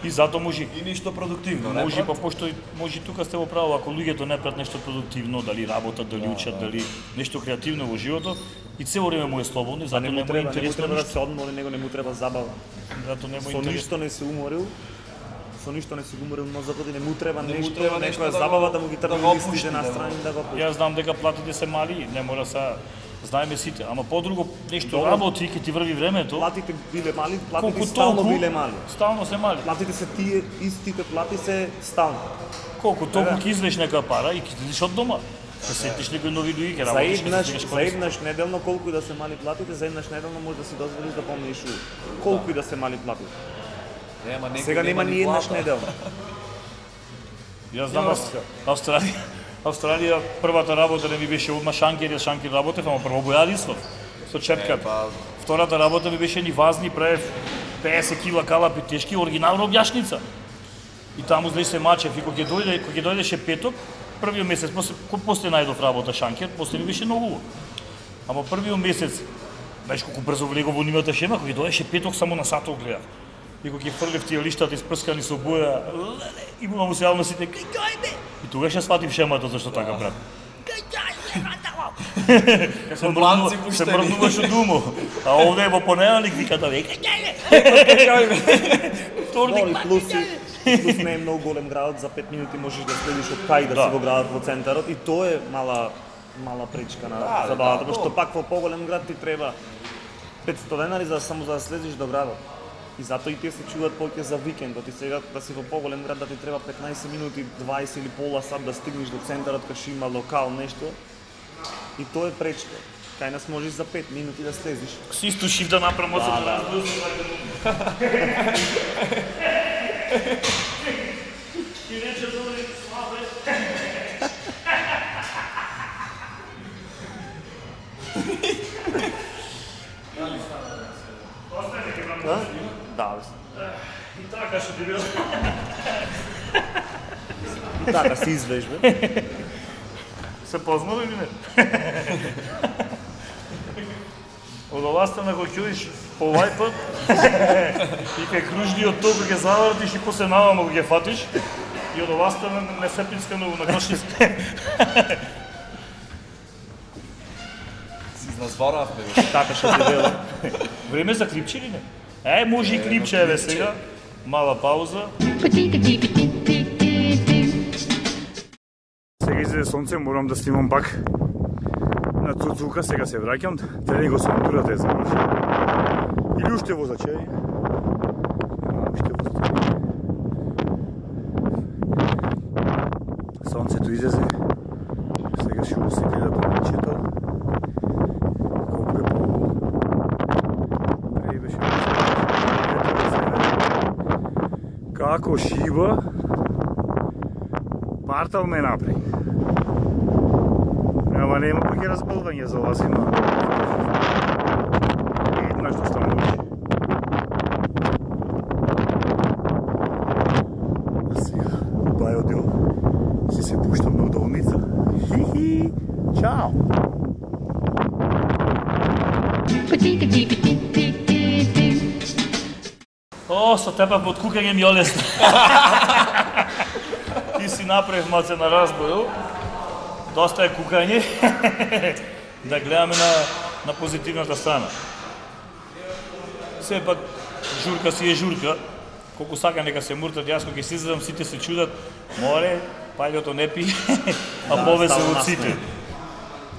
и затоа може И ништо продуктивно, не? Може, па брат? пошто може тука сте во право, ако луѓето не прават нешто продуктивно, дали работат, дали учат, дали нешто креативно во животот, и цело време му е слободно, и За затоа не не му му е треба, не му интересно треба да ништо. се одмори, него не му треба забава. Затоа не му е Со интересно. ништо не се уморил, со ништо не се уморил мозокот и не му треба Не му нешто, треба нешто некоја да го- забава да му ги да тргне го листите опушти, на да го- страни да го пушти. Јас знам дека платите се мали, не мора са знаеме сите, ама подруго нешто Добро. работи ќе ти врви времето. Платите биле мали, Колку платите стално толку, биле мали. Стално се мали. Платите се тие истите плати се стално. Колку толку Да. ќе извлечеш нека пара и ќе идеш од дома. Ќе сетиш некои нови луѓе, ќе За работиш, ќе еднаш, стигнеш за корист. еднаш неделно колку и да се мали платите, за еднаш неделно може да си дозволиш да помениш у. Колку и да се мали платите. Нема некој Сега нема ни еднаш плата. неделно. Јас знам Ав- Австралија. Австралија првата работа не ми беше одма шанкер, јас шанкер работев, ама прво бојадисов со Е, чепката. па, Втората работа ми беше ни вазни, правев петдесет кила калапи тешки, оригинална објашница. И таму знаеш се мачев и кога ќе дојде, кога ќе дојдеше петок, првиот месец, после кога после најдов работа шанкер, после ми беше многу убаво. Ама првиот месец, знаеш колку брзо влегов во нивната шема, кога ќе дојдеше петок само на сатот гледав. И кога ќе фрлев тие лиштата испрскани со боја, и му се јавно сите, кај дојде? И тогаш ја сватив шемата зашто така брат. Кај дојде? Се Подланци мрднува- се пуштени. мрднуваш од умо. А овде е во понеделник виката веќе дојде. Вторник Добро, и пак плюс, ќе и- дојде. плюс не е многу голем градот, за пет минути можеш да следиш од кај да, Да. си во градот во центарот и тоа е мала мала пречка на Да, забавата, да, пошто да. пак во поголем град ти треба петсто денари за само за да слезеш до градот. И затоа и тие се чуваат повеќе за викендот и сега да си во поголем град да ти треба петнаесет минути, дваесет или пола сат да стигнеш до центарот кај што има локал нешто. И тоа е пречка. Кај нас можеш за пет минути да слезеш. Си исто шиф да направам од Да, да. И рече добре, слабе. Да? Да, бе. И така што ти бил. И така се извежбе. Се познало или не? Од оваа страна го ќуиш по овај пат и кај кружниот ток ќе завртиш и после навамо го ќе фатиш и од оваа страна не се пинскано на кошница. си изназборавме, бе. Така што ти велам. Време за клипче или не? Е, може и клипче еве сега. Мала пауза. Сега излезе сонце, морам да снимам пак на Цуцука, сега се враќам, дали го сонтурата е завршен. Или уште возаче? Нема уште возаче. Сонцето излезе, сега ще го се гледа по момчето. Колко е по-убаво. Преди беше како шива, партал ме напри. Ама нема пак и разболвање за ова зима. Еднаш што стануваш. А сега, бајо дел, си се пуштам на удовница. Хи-хи, чао! О, со тебе под кукање ми олесно. направив маце на разбоју, доста е кукање, да гледаме на, на позитивната страна. Сепак, журка си е журка, колку сака нека се муртат, јас кога ќе си излезам, сите се чудат, море, пајлото не пи, а повезе од сите.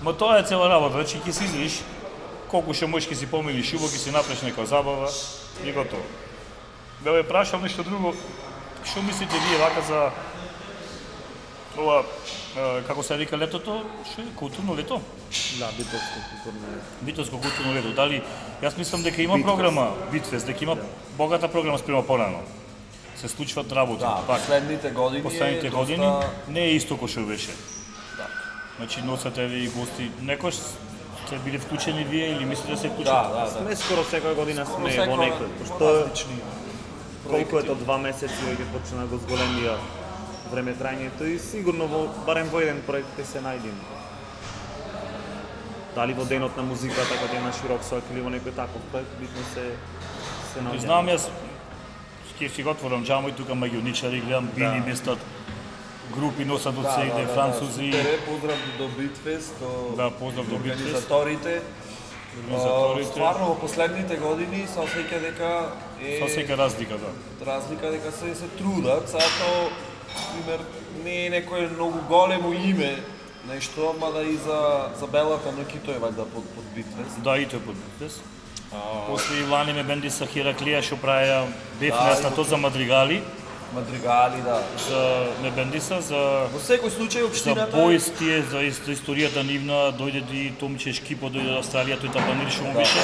Ма тоа е цела работа, значи ќе си излезеш, колку ше можеш ќе си помилиш шубо, ќе си направиш нека забава и готово. Да ве прашам нешто друго, што мислите вие вака за ова, како се вика летото, што е културно лето? Да, битовско културно лето. Битовско културно лето. Дали јас мислам дека има Битфест. програма Битфест, дека има богата програма спрема порано. Се случват работи. Да, пак. последните години Последните е години доста... не е исто кој што беше. Да. Значи носате ви гости, некош сте биле вклучени вие или мислите да се вклучат? Да, да, да. Сме скоро секоја година сме секоја во некој, пошто различни колку проекти. ето два месеци веќе почна го зголемија време трајањето и сигурно во барем во еден проект ќе се најдеме. Дали во денот на музиката кога е на широк сојк или во некој таков проект, битно се се наоѓа. Знам јас, ќе си го отворам џамо и тука магионичари, гледам били местат, групи носат од сегде, французи. Супер е, поздрав до Битфест, до Да, поздрав до Битфест. организаторите. Организаторите. А, Стварно во последните години се осеќа дека е Со сека разлика, да. разлика дека се се трудат, сега тоа пример не е некое многу големо име нешто, мада и за за белата ноќ и тој вајда под под Битфест. Да, и тој под Битфест. После и лани ме бенди са Хераклија што правеа бефнест на и тоа за мадригали, Мадригали, да. за ме бендиса за Во секој случај за општината бојс тие, за ис- за историјата нивна, дојде и Томче Шкипо, дојде од Австралија, тој тапанир што му беше.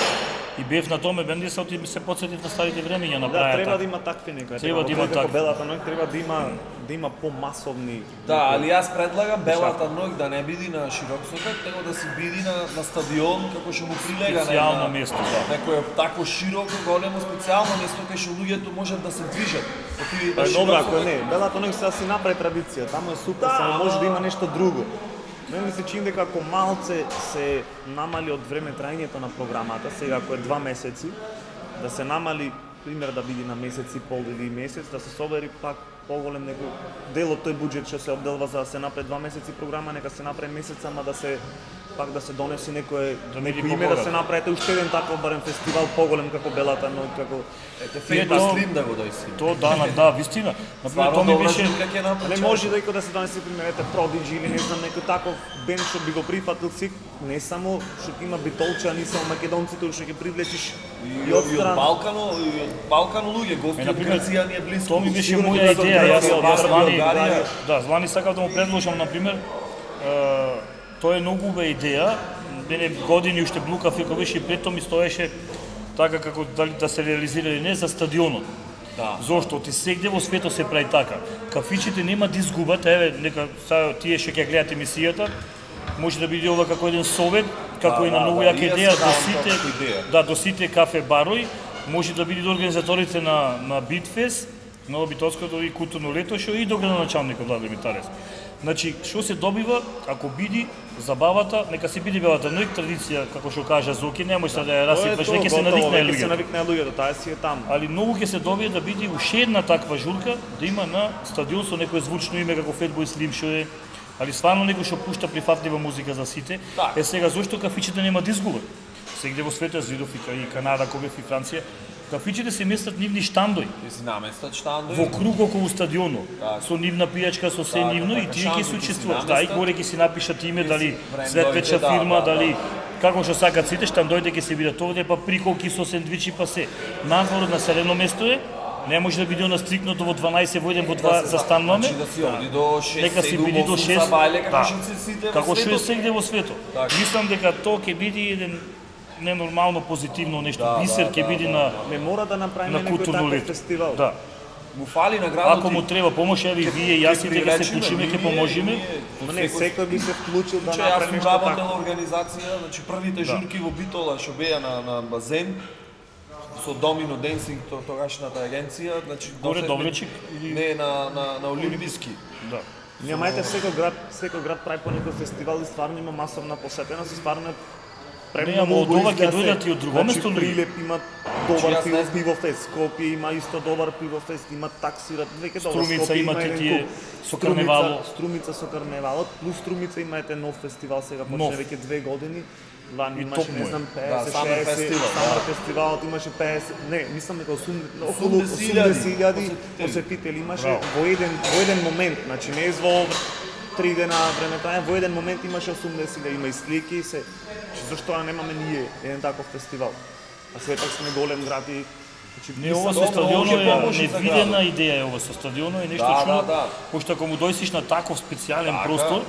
И бев на тоа ме бендиса, оти ми се потсетив на старите времења на Да, праја. треба да има такви некои. Треба да има како такви. белата ноќ треба да има да има помасовни. Да, али јас предлагам белата ноќ да не биде на широк сокак, него да се биде на, на стадион, како што му прилега на Специјално една- место, да. Некое такво широко, големо, специјално место кај што луѓето можат да се движат. Оти Па е добро ако не, белата ноќ сега си направи традиција, таму е супер, Да, само може ама- да има нешто друго. Мене ми се чини дека ако малце се намали од време трајањето на програмата, сега ако е два месеци, да се намали, пример да биде на месец и пол или месец, да се собери пак поголем некој дел од тој буџет што се обделва за да се направи два месеци програма, нека се направи месец, ама да се пак да се донеси некое Да биде некој име да се побогат. направи уште еден таков барем фестивал поголем како белата ноќ, како Ете, Фирма Ето- Слим да го дојси. Тоа да, на- да, вистина. Например, Стварно тоа ми добра беше журка ќе направи. Не може дека да се донесе примерете Продиджи или не знам некој таков бенд што би го прифатил си, не само што ќе има битолчани, само македонците што ќе привлечиш И од, и од Балкано, и од Балкано луѓе, гости Е, од например, Грција ни е близко. тоа ми беше Сигурно моја ќе бидат од идеја, јас Грција, јас од Звани, Българија. да, Звани сакав да му предложам на пример, е, тоа е многу убава идеја. Мене години уште блукав и кога беше и пред тоа ми стоеше така како дали да се реализира или не за стадионот. Да. Зошто? Ти сегде во светот се прави така. Кафичите нема да изгубат, еве, нека сега тие што ќе гледат емисијата, може да биде ова како еден совет, како Да, и на да, многу да, јака и јас идеја се до давам сите, таква идеја. да, до сите кафе барои, може да биде до организаторите на на Битфест, на Битолското и културно лето што и до градоначалникот Владимир Митарес. Значи, што се добива ако биде забавата, нека се биде белата ноќ традиција, како што кажа Зоки, не може да ја расипаш, веќе се навикнаа Веќе се луѓето. навикнаа луѓето, таа си е таму. Али многу ќе се добие да биде уште една таква журка, да има на стадион со некое звучно име како Fatboy Slim што е, али стварно некој што пушта прифатлива музика за сите. Так. Е сега зошто кафичите нема да изгубат? Сегде во светот видов и ка- и Канада, кога и Франција, кафичите се местат нивни штандои Ќе си наместат штандови. во круг околу стадионот, Так. со нивна пијачка, со се Така, нивно и така, тие ќе шанси се ќе си учествуваат. Да, и наместат. горе ќе си напишат име, дали брендовите, светвечна да, фирма, да, дали да. како што сакат сите, штандоите ќе се бидат овде, па приколки со сендвичи, па се. Надвор од населено место е, не може да биде она стрикното во дванаесет во еден во два се- застануваме. Значи да си оди до шест, Нека си седум, биде до осум шест. забајле, како Да. што се сите во Како што е светот. сегде во светот. Така. Мислам дека тоа ќе биде еден ненормално позитивно нешто, Да, бисер да, ќе да, биде да, на Не мора да направиме на некој културно таков лето. фестивал. Да. Му фали на градот. Ако му треба помош, еве и вие, јас и дека се вклучиме, ќе поможиме. Ма не, секој би се вклучил да Че јас направи сум нешто работел такво. организација, значи првите Да. журки во Битола што беа на на базен со Домино Денсинг, то тогашната агенција, значи Горе доседме- Довлечик или- не на на на Олимписки. Да. Немајте секој град, секој град прави по некој фестивал и стварно има масовна посетеност и стварно е Не, ама од ова ќе дојдат и од друго место луѓе. Прилеп има добар Значи, јас пиво, не знам. пивофест, Скопје има исто добар пивофест, има таксират, веќе добро. Струмица Скопје имате еден тие куп. со Струмица- карневало. Струмица со карневалот, плюс Струмица има ете нов фестивал сега почне Нов. веќе две години. Лани И имаше топ му не е. знам Да, петдесет Summer шеесет, Festival, Summer да. фестивалот имаше петдесет, не, мислам дека осумдесет, околу осумдесет илјади осумдесет илјади посетители. посетители имаше Браво. во еден во еден момент, значи не е во три дена време траја, во еден момент имаше осумдесет илјади, има и слики и се. Значи зашто да немаме ние еден таков фестивал? А се пак сме голем град и значи Не, ова со Добро, стадионот ќе е помоши за невидена градот. идеја, е ова со стадионот е нешто Да, чудно, да, да. пошто ако му дојсиш на таков специјален Така. простор,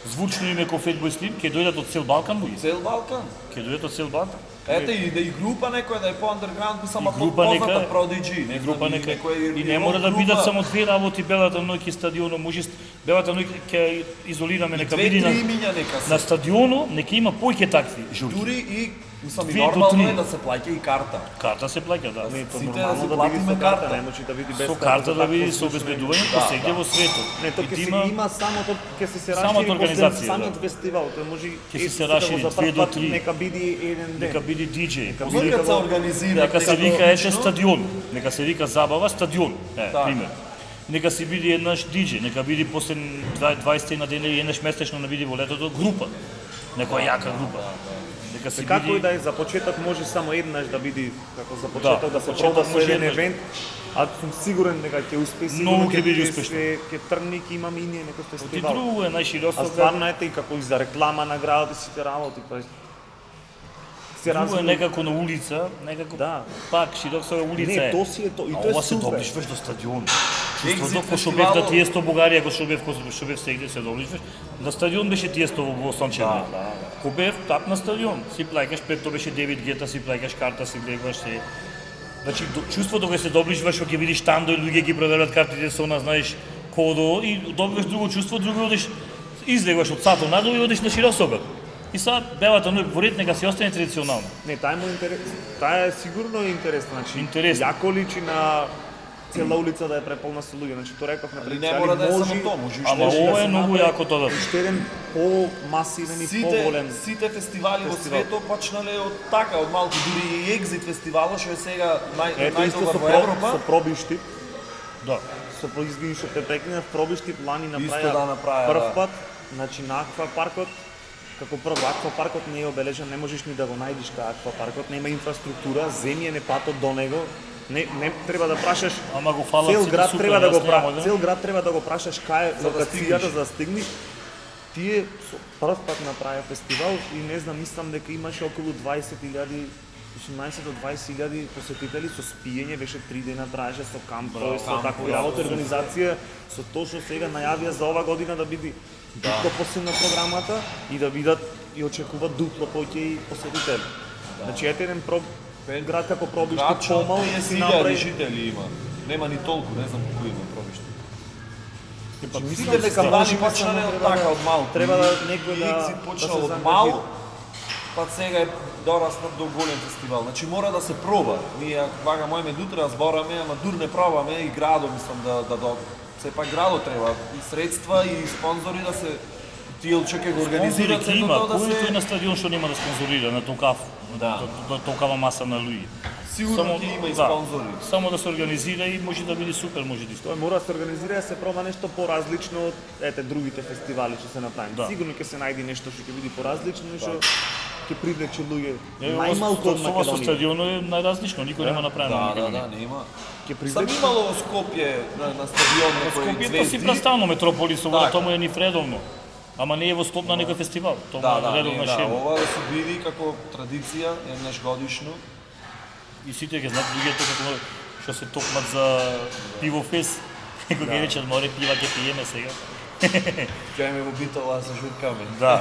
звучно име кој Fatboy Slim, ќе дојдат од цел Балкан луѓе. Цел Балкан. Ќе дојдат од цел Балкан. Ете и да и група некоја да е по андерграунд, само И група позната нека- Prodigy, не И група знам, нека некоја и не рок мора да група. бидат само две работи белата ноќ и стадионот, може белата ноќ ќе изолираме нека Две, биде три на имиња нека се. на стадионот, нека има поќе такви журки. Дури и мислам и Две до нормално три. е да се плаќа и карта. Карта се плаќа, да. Не, то Сите да нормално си да платиме биде со карта, карта. не може да биде без Со карта. карта за да такво биде со слушање. обезбедување Да, по сегде да. во светот. Не, то И ќе ти се има- има самото ќе се се Самата расшири организација, после самиот да. фестивал, тој може Ќе се е, се да го расшири за две прв до пат три. Нека биде еден ден. Нека биде диџеј. Може да се организира. Нека се некако вика ете лично. стадион, нека се вика забава стадион, е, Така. пример. Нека се биде еднаш диџеј, нека биде после дваесет на ден или еднаш месечно на биде во летото група. Некоја јака група. Нека се Како и биде да е за почеток може само еднаш да биде како за почеток да, за се почеток проба со може еден еднаш. евент, а сум сигурен дека ќе успее Многу сигурно ќе биде ќе успешно. се- ќе тргне и ќе имаме и ние некој Ти фестивал. друго е А најширосо. стварно ете и како и за реклама на градот и сите работи, па се Друго е разуме. некако на улица, некако Да. пак широкса улица Не, е. то си е то и А тоа ова е се супер. доближваш до стадион. Екзит Чувството кој што бев фестивалот. да Тиесто Бугарија, кој што бев кој што бев сегде се доближваш. На стадион беше Тиесто во во Сончев. Да, да, да. Кој бев тап на стадион, си плаќаш пред тоа беше девет гета, си плаќаш карта, си гледаш се. Значи до- чувството кога се доближваш, кога ќе видиш тандо и луѓе ги проверат картите со она, знаеш, кодо и добиваш друго чувство, друго одиш излегуваш од сатот надолу и одиш на Широсогар. И сега белата ноќ во ред нека си остане традиционално. Не, таа му интерес, таа е сигурно интересна, значи. Интересна. Јако личи на цела улица да е преполна со луѓе, значи тоа рековме Али пред не али мора да е може- само тоа, може и Ама што ова да е се многу направи. јако тоа. уште еден по-масивен и Сите, поголем. сите фестивали во фестивал. светот почнале од така, од малку, дури и Екзит фестивала, што е сега нај, Ето исто најдобар со, во про, Европа. со пробиштип, Да. со произвини што те прекинав, пробиштип лани Исто направија да направија, прв да. пат, значи на Аква паркот, како прво Аква паркот не е обележан, не можеш ни да го најдеш кај Аква паркот, нема инфраструктура, земјен е патот до него. Не, не треба да прашаш. Ама го фалат Цел сите град супер, треба да го јас пра... немам, да. цел град треба да го прашаш кај е За да локацијата стигнеш. за да стигнеш. Тие со прв пат направија фестивал и не знам, мислам дека имаше околу дваесет илјади осумнаесет до дваесет илјади посетители со спиење, беше три дена траеше со камп, Браво, со камп, таква браво, работа, организација, со тоа што сега најавија за ова година да биде дупло посилна програмата и да бидат и очекуваат дупло повеќе и посетители. Значи ете еден про... град како Пробишти Грачо, помал триесет си илјади направи. жители има. Нема ни толку, не знам колку има Пробишти. Мислам Сите дека фестивали може би почнале само од треба така, да- од малку. Треба да И- некој и да Екзит да почнал се од заангажира. мал, па сега е дораснат до голем фестивал. Значи мора да се проба. Ние вага мојме дутре разбораме, ама дур не пробаме и градот мислам да да до сепак градот треба и средства и спонзори да се тие што ќе го Спонзори организираат ќе сето има, тоа да кој тој се на стадион што нема да спонзорира на толкав, Да. до толкава маса на луѓе. сигурно ќе има и да, спонзори. Само да се организира и може да биде супер, може да Тоа мора да се организира и да се проба нешто поразлично од ете другите фестивали што се направени. Да. Сигурно ќе се најде нешто што ќе биде поразлично и што ќе привлече луѓе Е, најмалку од ова со Македонија. стадионот е најразлично, никој нема направено Да, на да, Македонија. да, нема. Ќе Сам привлече имало во Скопје на, на стадион некои Скопје тоа си звезди. прастално метрополис, ова Така. тоа му е ни редовно. Ама не е во склоп на некој фестивал, тоа Да, му да, е не, редовна да, шема. ова да се биде како традиција, еднаш годишно. И сите ќе знаат луѓето како што се токмат за пивофест, кога ќе речат море пива ќе пиеме сега. Ќе ме во битола да се журкаме. Да.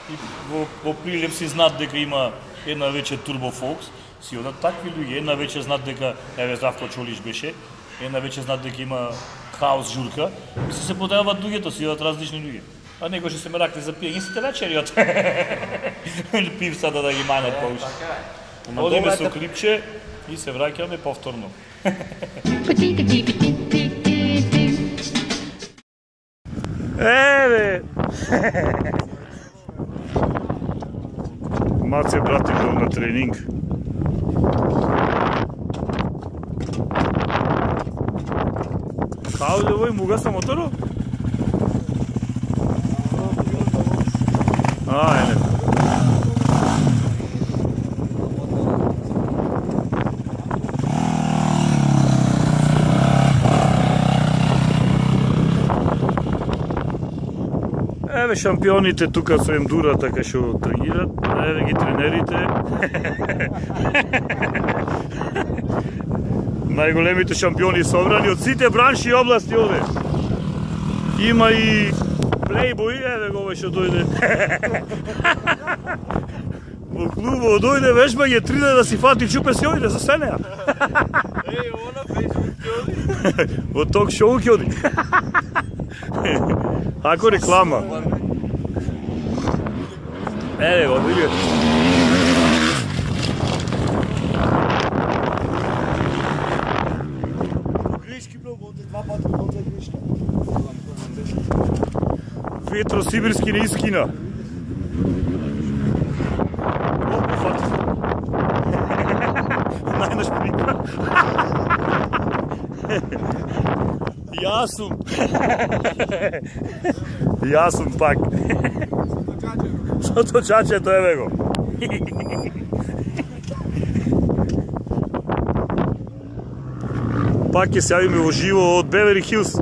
И во, во Прилеп си знаат дека има една вечер Turbo Fox, си одат такви луѓе, една вечер знаат дека, еве Здравко Чолиш беше, една вечер знаат дека има хаос журка, и се се подајават луѓето, си одат различни луѓе. А некој што се меракли за пиење, сите вечериот. Или пив сада да ги манат па уште. Така е. Ама Одиме добра е со така- клипче и се враќаме повторно. Еве. Маце брати бил на тренинг. Као ли овој му гаса моторот? А, е, не. Еве шампионите тука со ендура така што тренират, еве ги тренерите. Најголемите шампиони собрани од сите бранши и области овде. Има и плейбој, еве го овој што дојде. Во клубот дојде вежбање три дена да си фати чупе си ојде за сенеа. Еј, она фејсбук ќе оди. Во ток шоу ќе оди. Ако реклама. Еве го, види. Грешки много, два пати много грешки. Ветросибирски не искина. Опа, фати. Најнаш прика. Јас сум. Јас сум пак. Сото чачето, еве го. Пак ќе се јавиме во живо од Бевери Хилс.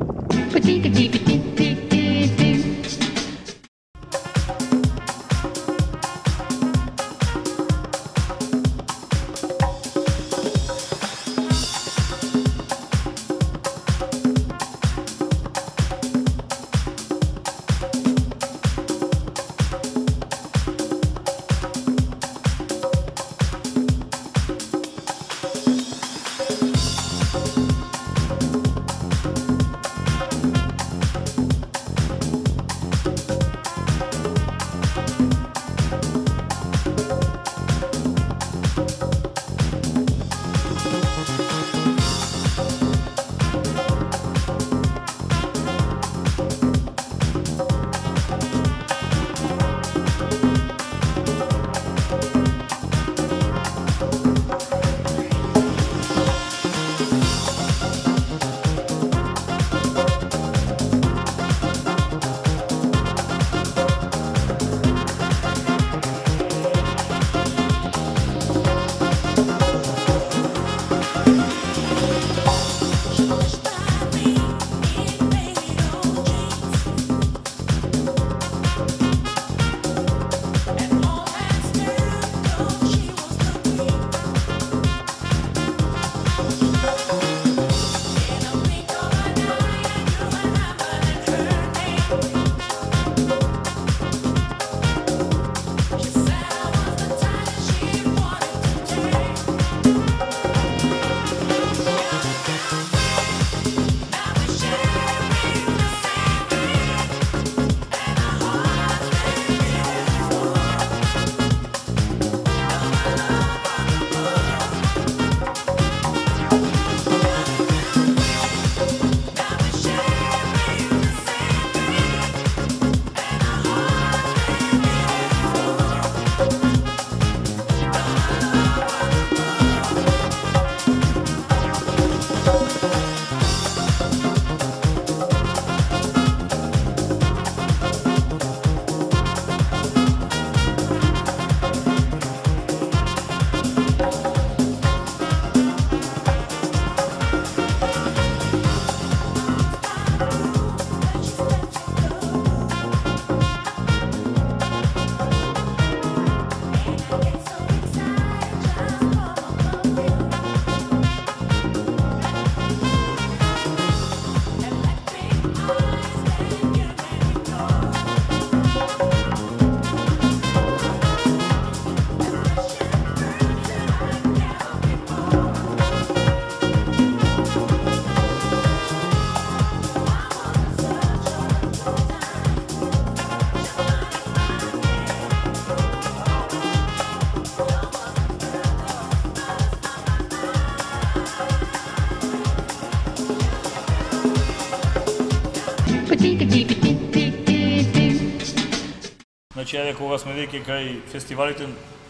Значи, еве кога сме веќе кај фестивалите,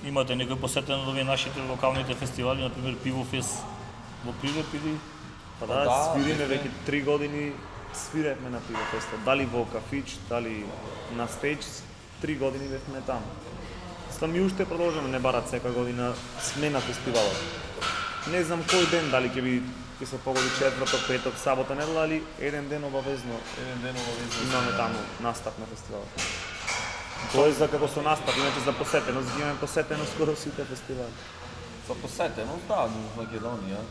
имате некој посетен од овие нашите локалните фестивали, например Пивофест во Прилеп или Па да, да, свириме веќе три години, свиревме на Пивофеста, дали во кафич, дали на стејдж, три години бевме таму. Стам и уште продолжаме, не барат секоја година смена фестивалот. Не знам кој ден, дали ќе би ќе се погоди четврток, петок, сабота, недела, али еден ден обавезно Еден ден обавезно имаме таму настап на фестивалот. Тоа е за како со настап, иначе за посетеност, ги имаме посетено скоро сите фестивали. За посетеност, да, во Македонија.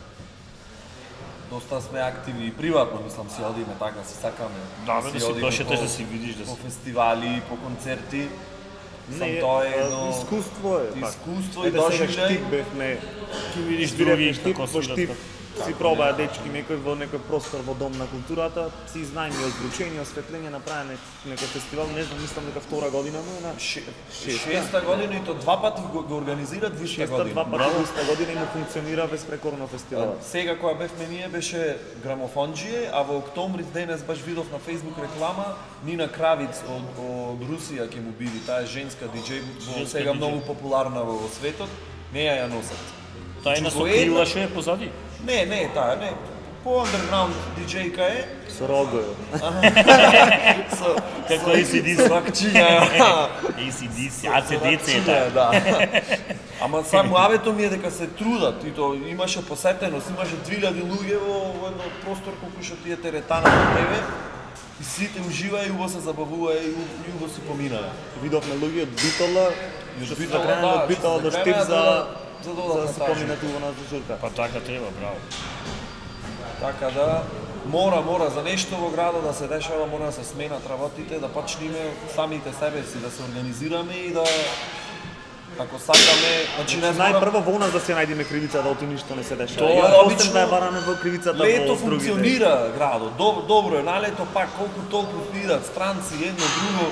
Доста сме активни и приватно, мислам, си одиме така, си сакаме. Да, бе, да си одиме прошетеш, по- да си видиш, да по си... фестивали, по концерти. Сам Не, тоа е а, едно искуство е, пак. искуство и Ете сега доживеј. Штип бевме, Ти видиш свиревме други Штип, како во Штип свират. си пробаа дечки некој во некој простор во Дом на културата, си изнајми озвучение, осветление, направи некој фестивал, не знам, мислам дека втора година му е на Ше- Шеста. Шеста година и то два пати го, го организират во иста шеста, година. два пати во иста година и му функционира безпрекорно фестивалот. Сега кога бевме ние беше грамофонџие, а во октомври денес баш видов на Facebook реклама Нина Кравиц од, од Русија ќе му биде, таа е женска диџеј, во Женска сега диџеј. многу популарна во, во светот, неја ја носат. Тајна со Во една- крила што е позади. Не, не, таа не. По underground диџејка е. Со рогојо. Со, Како A C D C. Свакчиња. A C D C, А Ц Д Ц е таа. Да. Ама само авето ми е дека се трудат и то имаше посетеност, имаше две илјади луѓе во во едно простор колку што тие теретана на тебе. И сите уживаа и убаво се забавуваа и у- и убаво си поминаа. Видовме луѓе од Битола, што се Битола, закренали да, од Битола што до се Штип закренаа за за- за за додатна да се тажба. помине тука на Зужурка. Па така треба, браво. Така да мора, мора за нешто во градот да се дешава, мора да се сменат работите, да почнеме самите себе си да се организираме и да ако сакаме, значи не зборам, Најпрво во нас да се најдеме кривица да оти ништо не се дешава. Тоа И е после обично. да ја бараме во кривицата лето во другите. функционира градот, добро, добро е, на лето пак колку толку идат странци, едно друго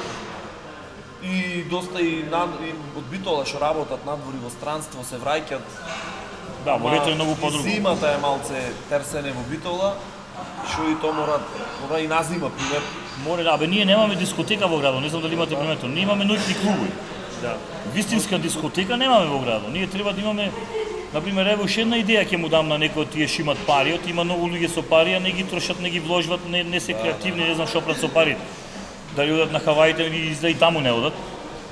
и доста и, над, и од Битола што работат надвори во странство се враќат. Да, во лето е многу И подруго. зимата е малце терсене во Битола, што и тоа мора, мора и на зима, пример. Море, да, бе, ние немаме дискотека во градот, не знам дали имате приметено. Ние имаме ноќни клубови. Да. Вистинска дискотека немаме во градот. Ние треба да имаме, например, ево уште една идеја ќе му дам на некој од тие што имат пари, од има многу луѓе со пари, а не ги трошат, не ги вложват, не, не се креативни, не знам што прават со парите. Дали одат на Хаваите или да и таму не одат.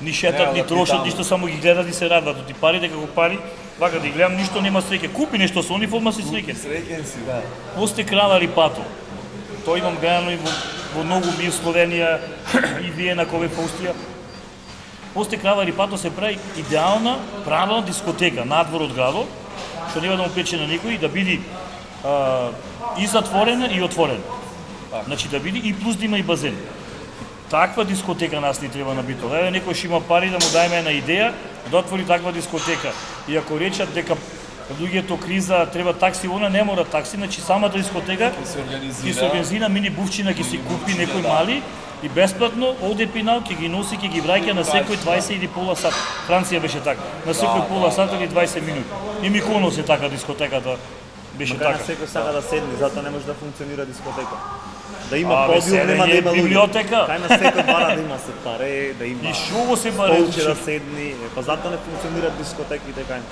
Ни Не шетат, ни одат и трошат, таму. ништо само ги гледат и се радват. Оти парите како пари, вака да ги гледам, ништо нема среќа. Купи нешто со униформа си среќен. Среќен си, да. Посте крала рипато. Тоа имам гледано и во, во многу би Словенија и Виена, Кове, Австрија. Посте крава рипато се прави идеална, правилна дискотека надвор од градот, што нема да му пречи на никој, да биде а, и затворена и отворена. Значи да биде и плюс да има и базен. Таква дискотека нас ни треба на Битола. Еве некој што има пари да му дајме една идеја да отвори таква дискотека. И ако речат дека луѓето криза треба такси, она не мора такси, значи самата дискотека Ќе се ќе организира. се организира мини бувчина, ќе си купи некој мали и бесплатно оде пинал, ќе ги носи, ќе ги враќа на секој дваесет или пола сат. Франција беше така. На секој пола сат или дваесет минути. И Миконос е така дискотеката. Беше Кај така. на секој сака да седне, затоа не може да функционира дискотека. Да има Абе, подиум, нема да седење, има луѓе. библиотека. Кај на секој бара да има се паре, да има И шо го се баре? столче да седни, е, па затоа не функционираат дискотеките кај нас.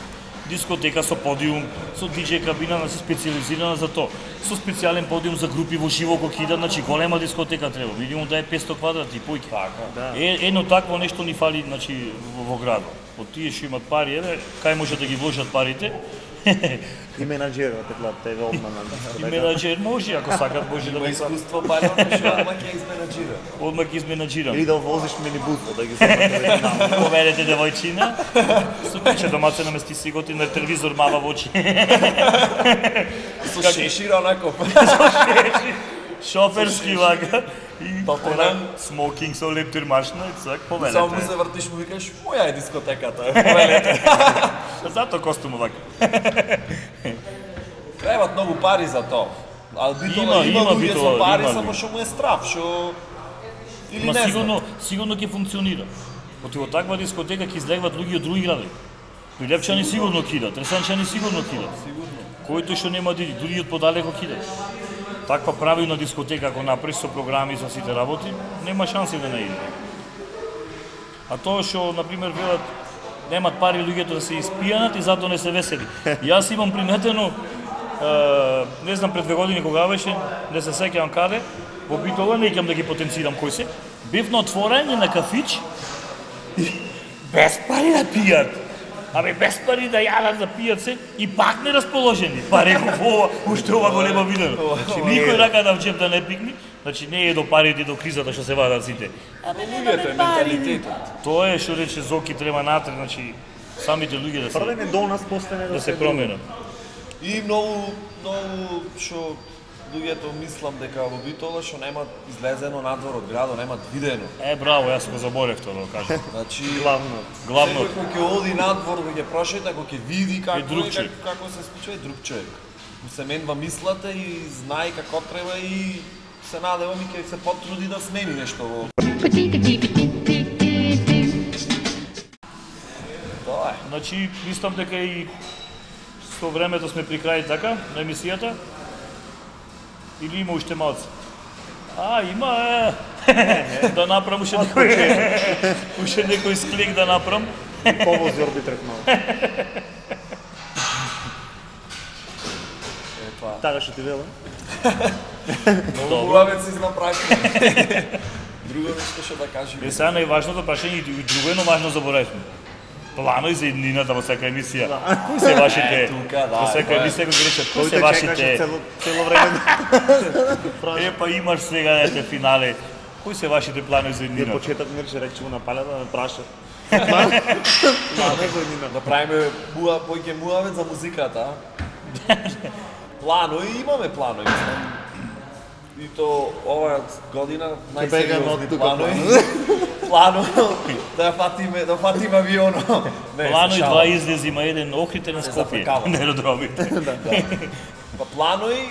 Дискотека со подиум, со диџеј кабина, значи специализирана за тоа. Со специјален подиум за групи во живо кој кида, значи голема дискотека треба. Минимум да е петсто квадрати појќе. Така. Да. Е, едно такво нешто ни фали, значи во, во градот. Од тие што имат пари, еве, кај може да ги вложат парите? И менаџерот е глад, тебе одман на И дискотека. менаџер може, ако сакат, може да Има го сакат. искуство палено што одма ќе изменаџира. Одма ги изменаџирам. Или да возиш минибус, да ги земате веќе таму. Поведете девојчина, со куче домаце намести си готи на телевизор мава во очи. Со шешир онако. Шоферски вака. И Толку она не. смокинг со лептир машина и цак, Само му поведете. се вртиш му викаш, моја е дискотеката. Повелете. Зато костум вака. Требат многу пари за тоа. А Има, Битола има, има луѓе Битола, со пари, има само луѓе. што му е страв, што или Ма не сигурно, знам. сигурно ќе функционира. Оти во таква дискотека ќе излегват луѓе од други градови. Прилепчани сигурно кидат, Ресанчани сигурно кидат. Сигурно. Којто што нема да иди, дури од подалеко кидат. Таква правилна дискотека ако направиш со програми со сите работи, нема шанси да не иде. А тоа што на пример велат немат пари луѓето да се испијанат и затоа не се весели. Јас имам приметено, е, не знам пред две години кога беше, не се сеќавам каде, во Битола, не ќе да ги потенцирам кој се, бив на отворање на кафич и без пари да пијат. Абе без пари да јадат да пијат се и пак не расположени. Па реков ова, уште ова го нема видено. Значи никој рака да в джеб да не пикни, значи не е до парите и до кризата што се вадат сите. Абе луѓето е менталитетот. Тоа е што рече Зоки треба натре, значи самите луѓе да се Првен е до нас, после не да се променат. И многу многу што луѓето мислам дека во Битола што немат излезено надвор од градот, немат видено. Е, браво, јас го заборев тоа да кажам. Значи главно. Главно. Секој кој ќе оди надвор, да ќе прошета, кој ќе види како друг е, човек. како, како се случува, е друг човек. Му се менва мислата и знае како треба и се надевам и ќе се потруди да смени нешто во. Тоа е. Значи, мислам дека и со времето сме при крај така на емисијата. Или има уште малце? А, има е. Да направам уште некој уште некој склик да направам. Повози орбитрек малку. Епа, Така што ти велам. многу муавет си направи. Друго нешто што да кажи. Е, сега најважното прашање и друго едно важно заборавме. Планови за иднината во секоја емисија. Кои се вашите? Е, тука, да, Во секоја тоа е. емисија го речат, кои Кој се те чекаше вашите? цело, цело време. Е, па имаш сега ете финале. Кои се вашите планови за Ја иднината? почеток ми рече рече на палета да ме праша. Планови за иднина. Да правиме муа, поќе муавет за музиката. а? Планови, имаме планови, мислам. И то оваа година бегаме од најсериозни тука планови. Плано да ја фатиме, да фатиме авионот. Не, Плано и се два шалам. излези, има еден Охрите на Се Скопје, зафркава. не родровите. Па планови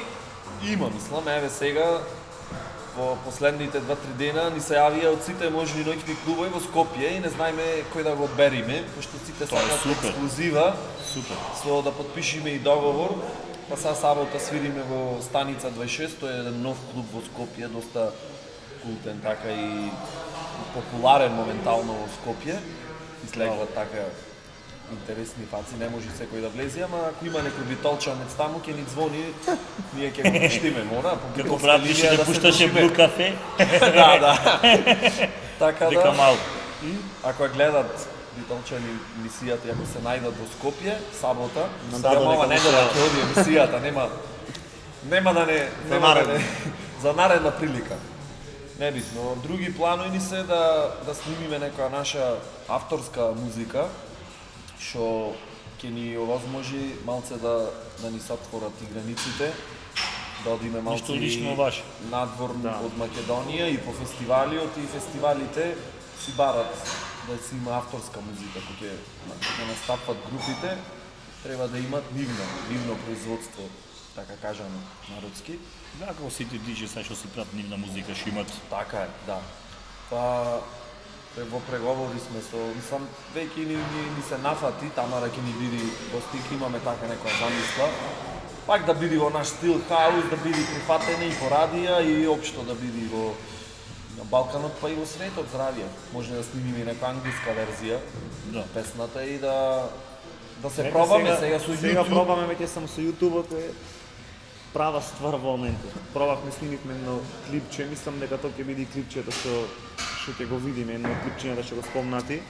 има, мислам, еве сега во последните два-три дена ни се јавија од сите можни ноќни клубови во Скопје и не знаеме кој да го одбериме, пошто сите Тоа е сакаат супер. ексклузива, Супер. со да потпишеме и договор. Па сега сабота свириме во Станица дваесет и шест, тој е еден нов клуб во Скопје, доста култен така и популарен моментално во Скопје. Излегват така интересни фаци, не може секој да влезе, ама ако има некој битолчанец таму ќе ни звони, ние ќе го пуштиме, мора, по Како битолска брат линија више да се пушташе држиме. Блу кафе, Да, да. Така дека да, малку. ако ја гледат битолчани емисијата, и ако се најдат во Скопје, сабота, На сега дадо ова нека недела му се ќе оди емисијата, нема нема да не нема да наредна. не за наредна прилика. Небитно, други планови ни се да да снимиме некоја наша авторска музика што ќе ни овозможи малце да да ни се отворат и границите, да одиме малце Ништо лично и ваше. надвор Да. од Македонија и по фестивалиот и фестивалите си барат да си има авторска музика, кој ќе да настапат групите, треба да имат нивно, нивно производство, така кажам народски. Да, како сите диџеи сега што си прават нивна музика, што имат. Така е, да. Па пре- во преговори сме со, мислам, веќе ни, ни, ни се нафати, Тамара ќе ни биде гостик, имаме така некоја замисла. Пак да биде во наш стил хаус, да биде прифатене и по радија и општо да биде во на Балканот, па и во светот здравје. Може да снимиме и некоја англиска верзија Да. на песната и да да се Ете, пробаме сега со Сега YouTube. пробаме веќе само со YouTube, кој е права ствар во моментот. Пробавме, снимивме едно клипче, мислам дека тоа ќе биде и клипчето што што ќе го видиме, едно клипчињата што го спомнати.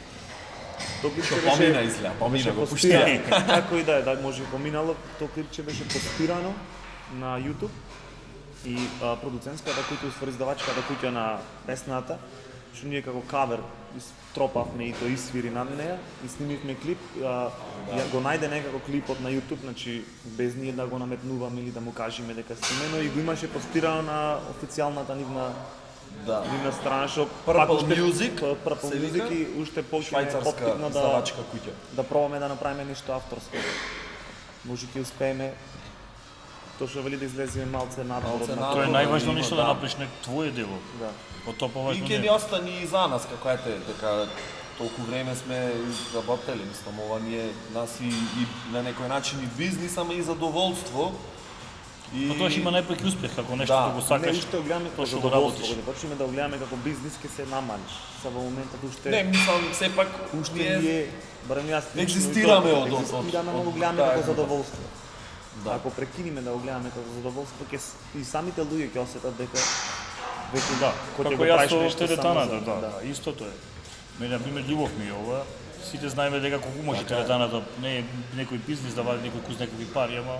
Тоа клипче Што помина изгледа, помина, беше го постирано. Како и да е, да може и поминало, тоа клипче беше постирано на YouTube и а, продуцентската куќа, уствари издавачката куќа на песната, што ние како кавер стропавме и тоа isвири над неја и снимивме клип, а, ја го најде некако клипот на YouTube, значи без ние да го наметнуваме или да му кажеме дека снимено и го имаше постирано на официјалната нивна Да. нивна страна што Purple Music, П- Purple се вика, Music и уште повеќе швајцарска поптикна да издавачка куќа. да пробаме да направиме нешто авторско. Може ќе успееме тоа што вели да излеземе малце надвор. Малце од надвор. Тоа е да најважно има, нешто да да. направиш на твое дело. Да. Од тоа И поважно ќе не. ни остани и за нас, како ете, дека толку време сме работели, мислам, ова ни е нас и, и на некој начин и бизнис, ама и задоволство. И Но тоа ќе има најпак успех ако нешто Да, да го Не, сакаш. уште го гледаме како тоа што го задоволство, работиш. го почнеме да го гледаме како бизнис, ќе се намалиш. Са во моментот уште Не, мислам, сепак уште ние ние барем јас лично, Екзистираме и тоа, од- од- екзистираме, од- но го од гледаме таа како група. задоволство. Да. Ако прекинеме да го гледаме како задоволство, ќе с- и самите луѓе ќе осетат дека веќе Да, кога ќе како го јас правиш со нешто само телетаната, за- да, да, истото е. Мене, например, љубов ми е ова. Сите знаеме дека колку може телетаната, не е некој бизнис да вади некој куз некакви пари, ама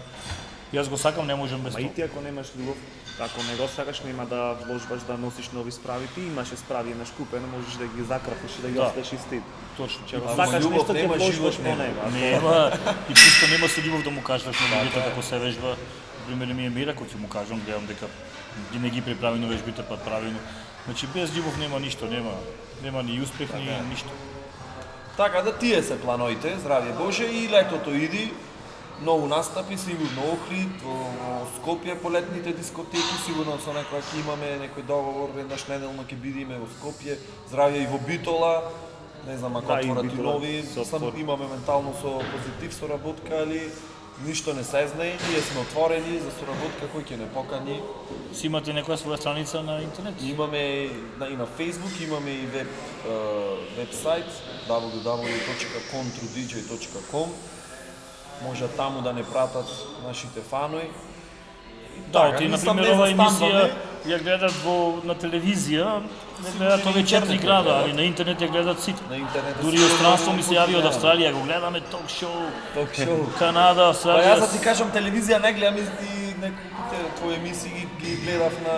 јас го сакам, не можам без Ма и тоа. ти ако немаш љубов, ако не го сакаш, нема да вложбаш да носиш нови справи. Ти имаше справи на шкупено, можеш да ги закрапиш и да ги Да. оставиш исти. Точно. Че ако Ако сакаш љубов нешто, ќе нема, вложбаш живот по нема. него. Ако- Нема, и пусто нема со љубов да му кажеш на луѓето како се вежба. Пример ми е Мира, кој ќе му кажам, гледам дека ги не ги приправено вежбите пат правилно. Значи без љубов нема ништо, нема нема ни успех, ни ништо. Така да тие се плановите, здравје Боже, и летото иди, многу настапи, сигурно Охрид, во во Скопје по летните дискотеки, сигурно со некоја ќе имаме некој договор, веднаш неделно ќе бидиме во Скопје, здравје и во Битола, не знам ако Да, и отворат и Битола, нови, со сам отвор. имаме ментално со позитив соработка, али ништо не се знае, ние сме отворени за соработка, кој ќе не покани. Си имате некоја своја страница на интернет? Имаме на, и на Facebook, имаме и веб, е, вебсайт дабл ю дабл ю точка контрудиџеј точка ком. Може таму да не пратат нашите фанои. Да, Така, ти, мислам, например, не ова емисија застануваме. ја гледат во на телевизија, не гледат на овие четири интернет ја града, гледат. али на интернет ја гледат сите. На интернет. Дури од странство ми се јави од Австралија, го гледаме ток шоу, Ток шоу. Канада, Па Австралија. јас да ти кажам, телевизија не гледам и и неколку твои емисии ги, ги гледав на...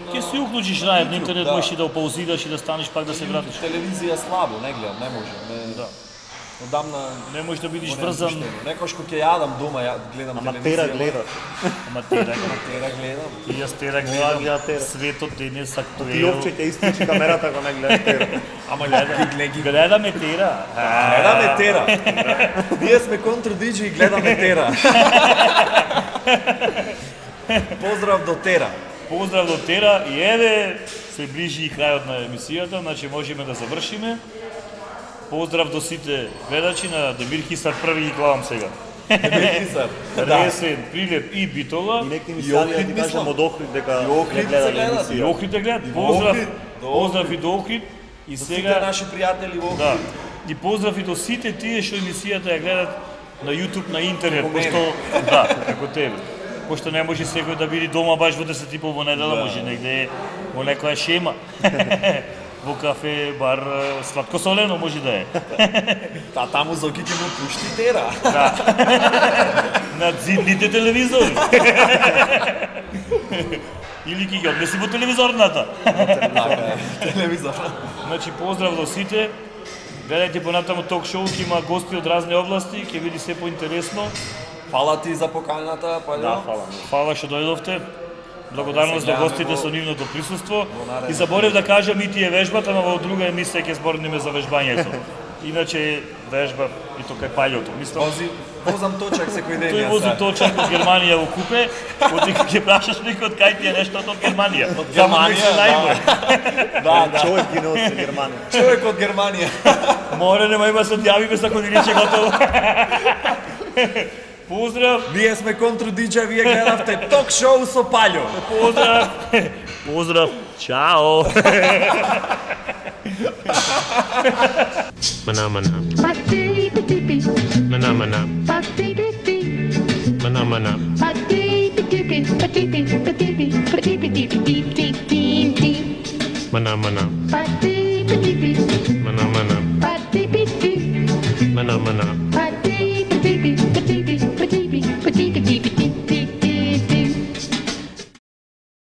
на... Ќе си уклучиш рајд на интернет, Да. можеш и да опаузираш и да станеш пак да се вратиш. Телевизија слабо, не гледам, не може. Не... Да. Одамна... Не можеш да бидеш го врзан, немам пуштено. Некош кога ќе јадам дома, ја гледам Ама телевизија. тера гледат. ама тера, Тера гледам. и јас тера гледа гледам, тера. светот денес Ти актуел. опче ќе исклучи камерата ако не гледаш тера. Ама гледам, ги Гледаме тера. гледаме тера. Ние сме контрудиџи и гледаме тера. Поздрав до тера. Поздрав до Тера и еве се ближи и крајот на емисијата, значи можеме да завршиме. Поздрав до сите гледачи на Демир Хисар први ги гледам сега. Телевизор. Ресен, Прилеп и Битола. И некои ми И се јави да Охрид, ти мислам. кажам од Охрид дека И Охрид ја гледале се гледат. И емисија. Охрид е гледат. И во Поздрав, Охрид, до поздрав и до Охрид. И Сите сега наши пријатели во да. И поздрав и до сите тие што емисијата ја гледат на YouTube, на интернет, Како мене. пошто да, како тебе. Пошто не може секој да биде дома баш во десет и пол во недела, Да. може негде во некоја шема. Во кафе, бар, сладкосолено може да е. Та таму Зоки ќе му пушти тера. На зидните телевизори. Или ќе ги однеси во телевизорната. Така е, телевизор. Значи поздрав до сите. Гледајте понатаму ток шоу, ќе има гости од разни области, ќе биде се поинтересно. Фала ти за поканата, Пајло. Да, фала ми. Фала што дојдовте. Благодарност Се до гледаме гостите во- со нивното присуство. наредно. И заборев да кажам и тие вежбата, но во друга емисија ќе зборниме за вежбањето. Иначе вежба и тоа кај пајлото. Мислам, Вози, возам точак секој ден. тој јас, вози да. точак од Германија во купе, оти кога ќе прашаш некој од кај ти е нешто од Германија. Од Германија, најбој. Да, да. Човек ги носи Германија. Човек од Германија. Море нема има се одјавиме за кодиличе готово. Поздрав, Ние сме контрудиџеј, вие гледавте ток шоу со Пајло. поздрав. Поздрав. Чао. Mana mana. Ba-dee-ba-dee-bee, Mana mana. ba-dee-bee-bee, Mana mana. ba-dee-ba-dee-bee, ba-dee-bee, ba-dee-bee, ba-dee-bee-dee-dee-dee-dee-dee. Mana mana. Ba-dee-ba-dee-bee, Mana mana. ba-dee-bee-bee. Mana mana.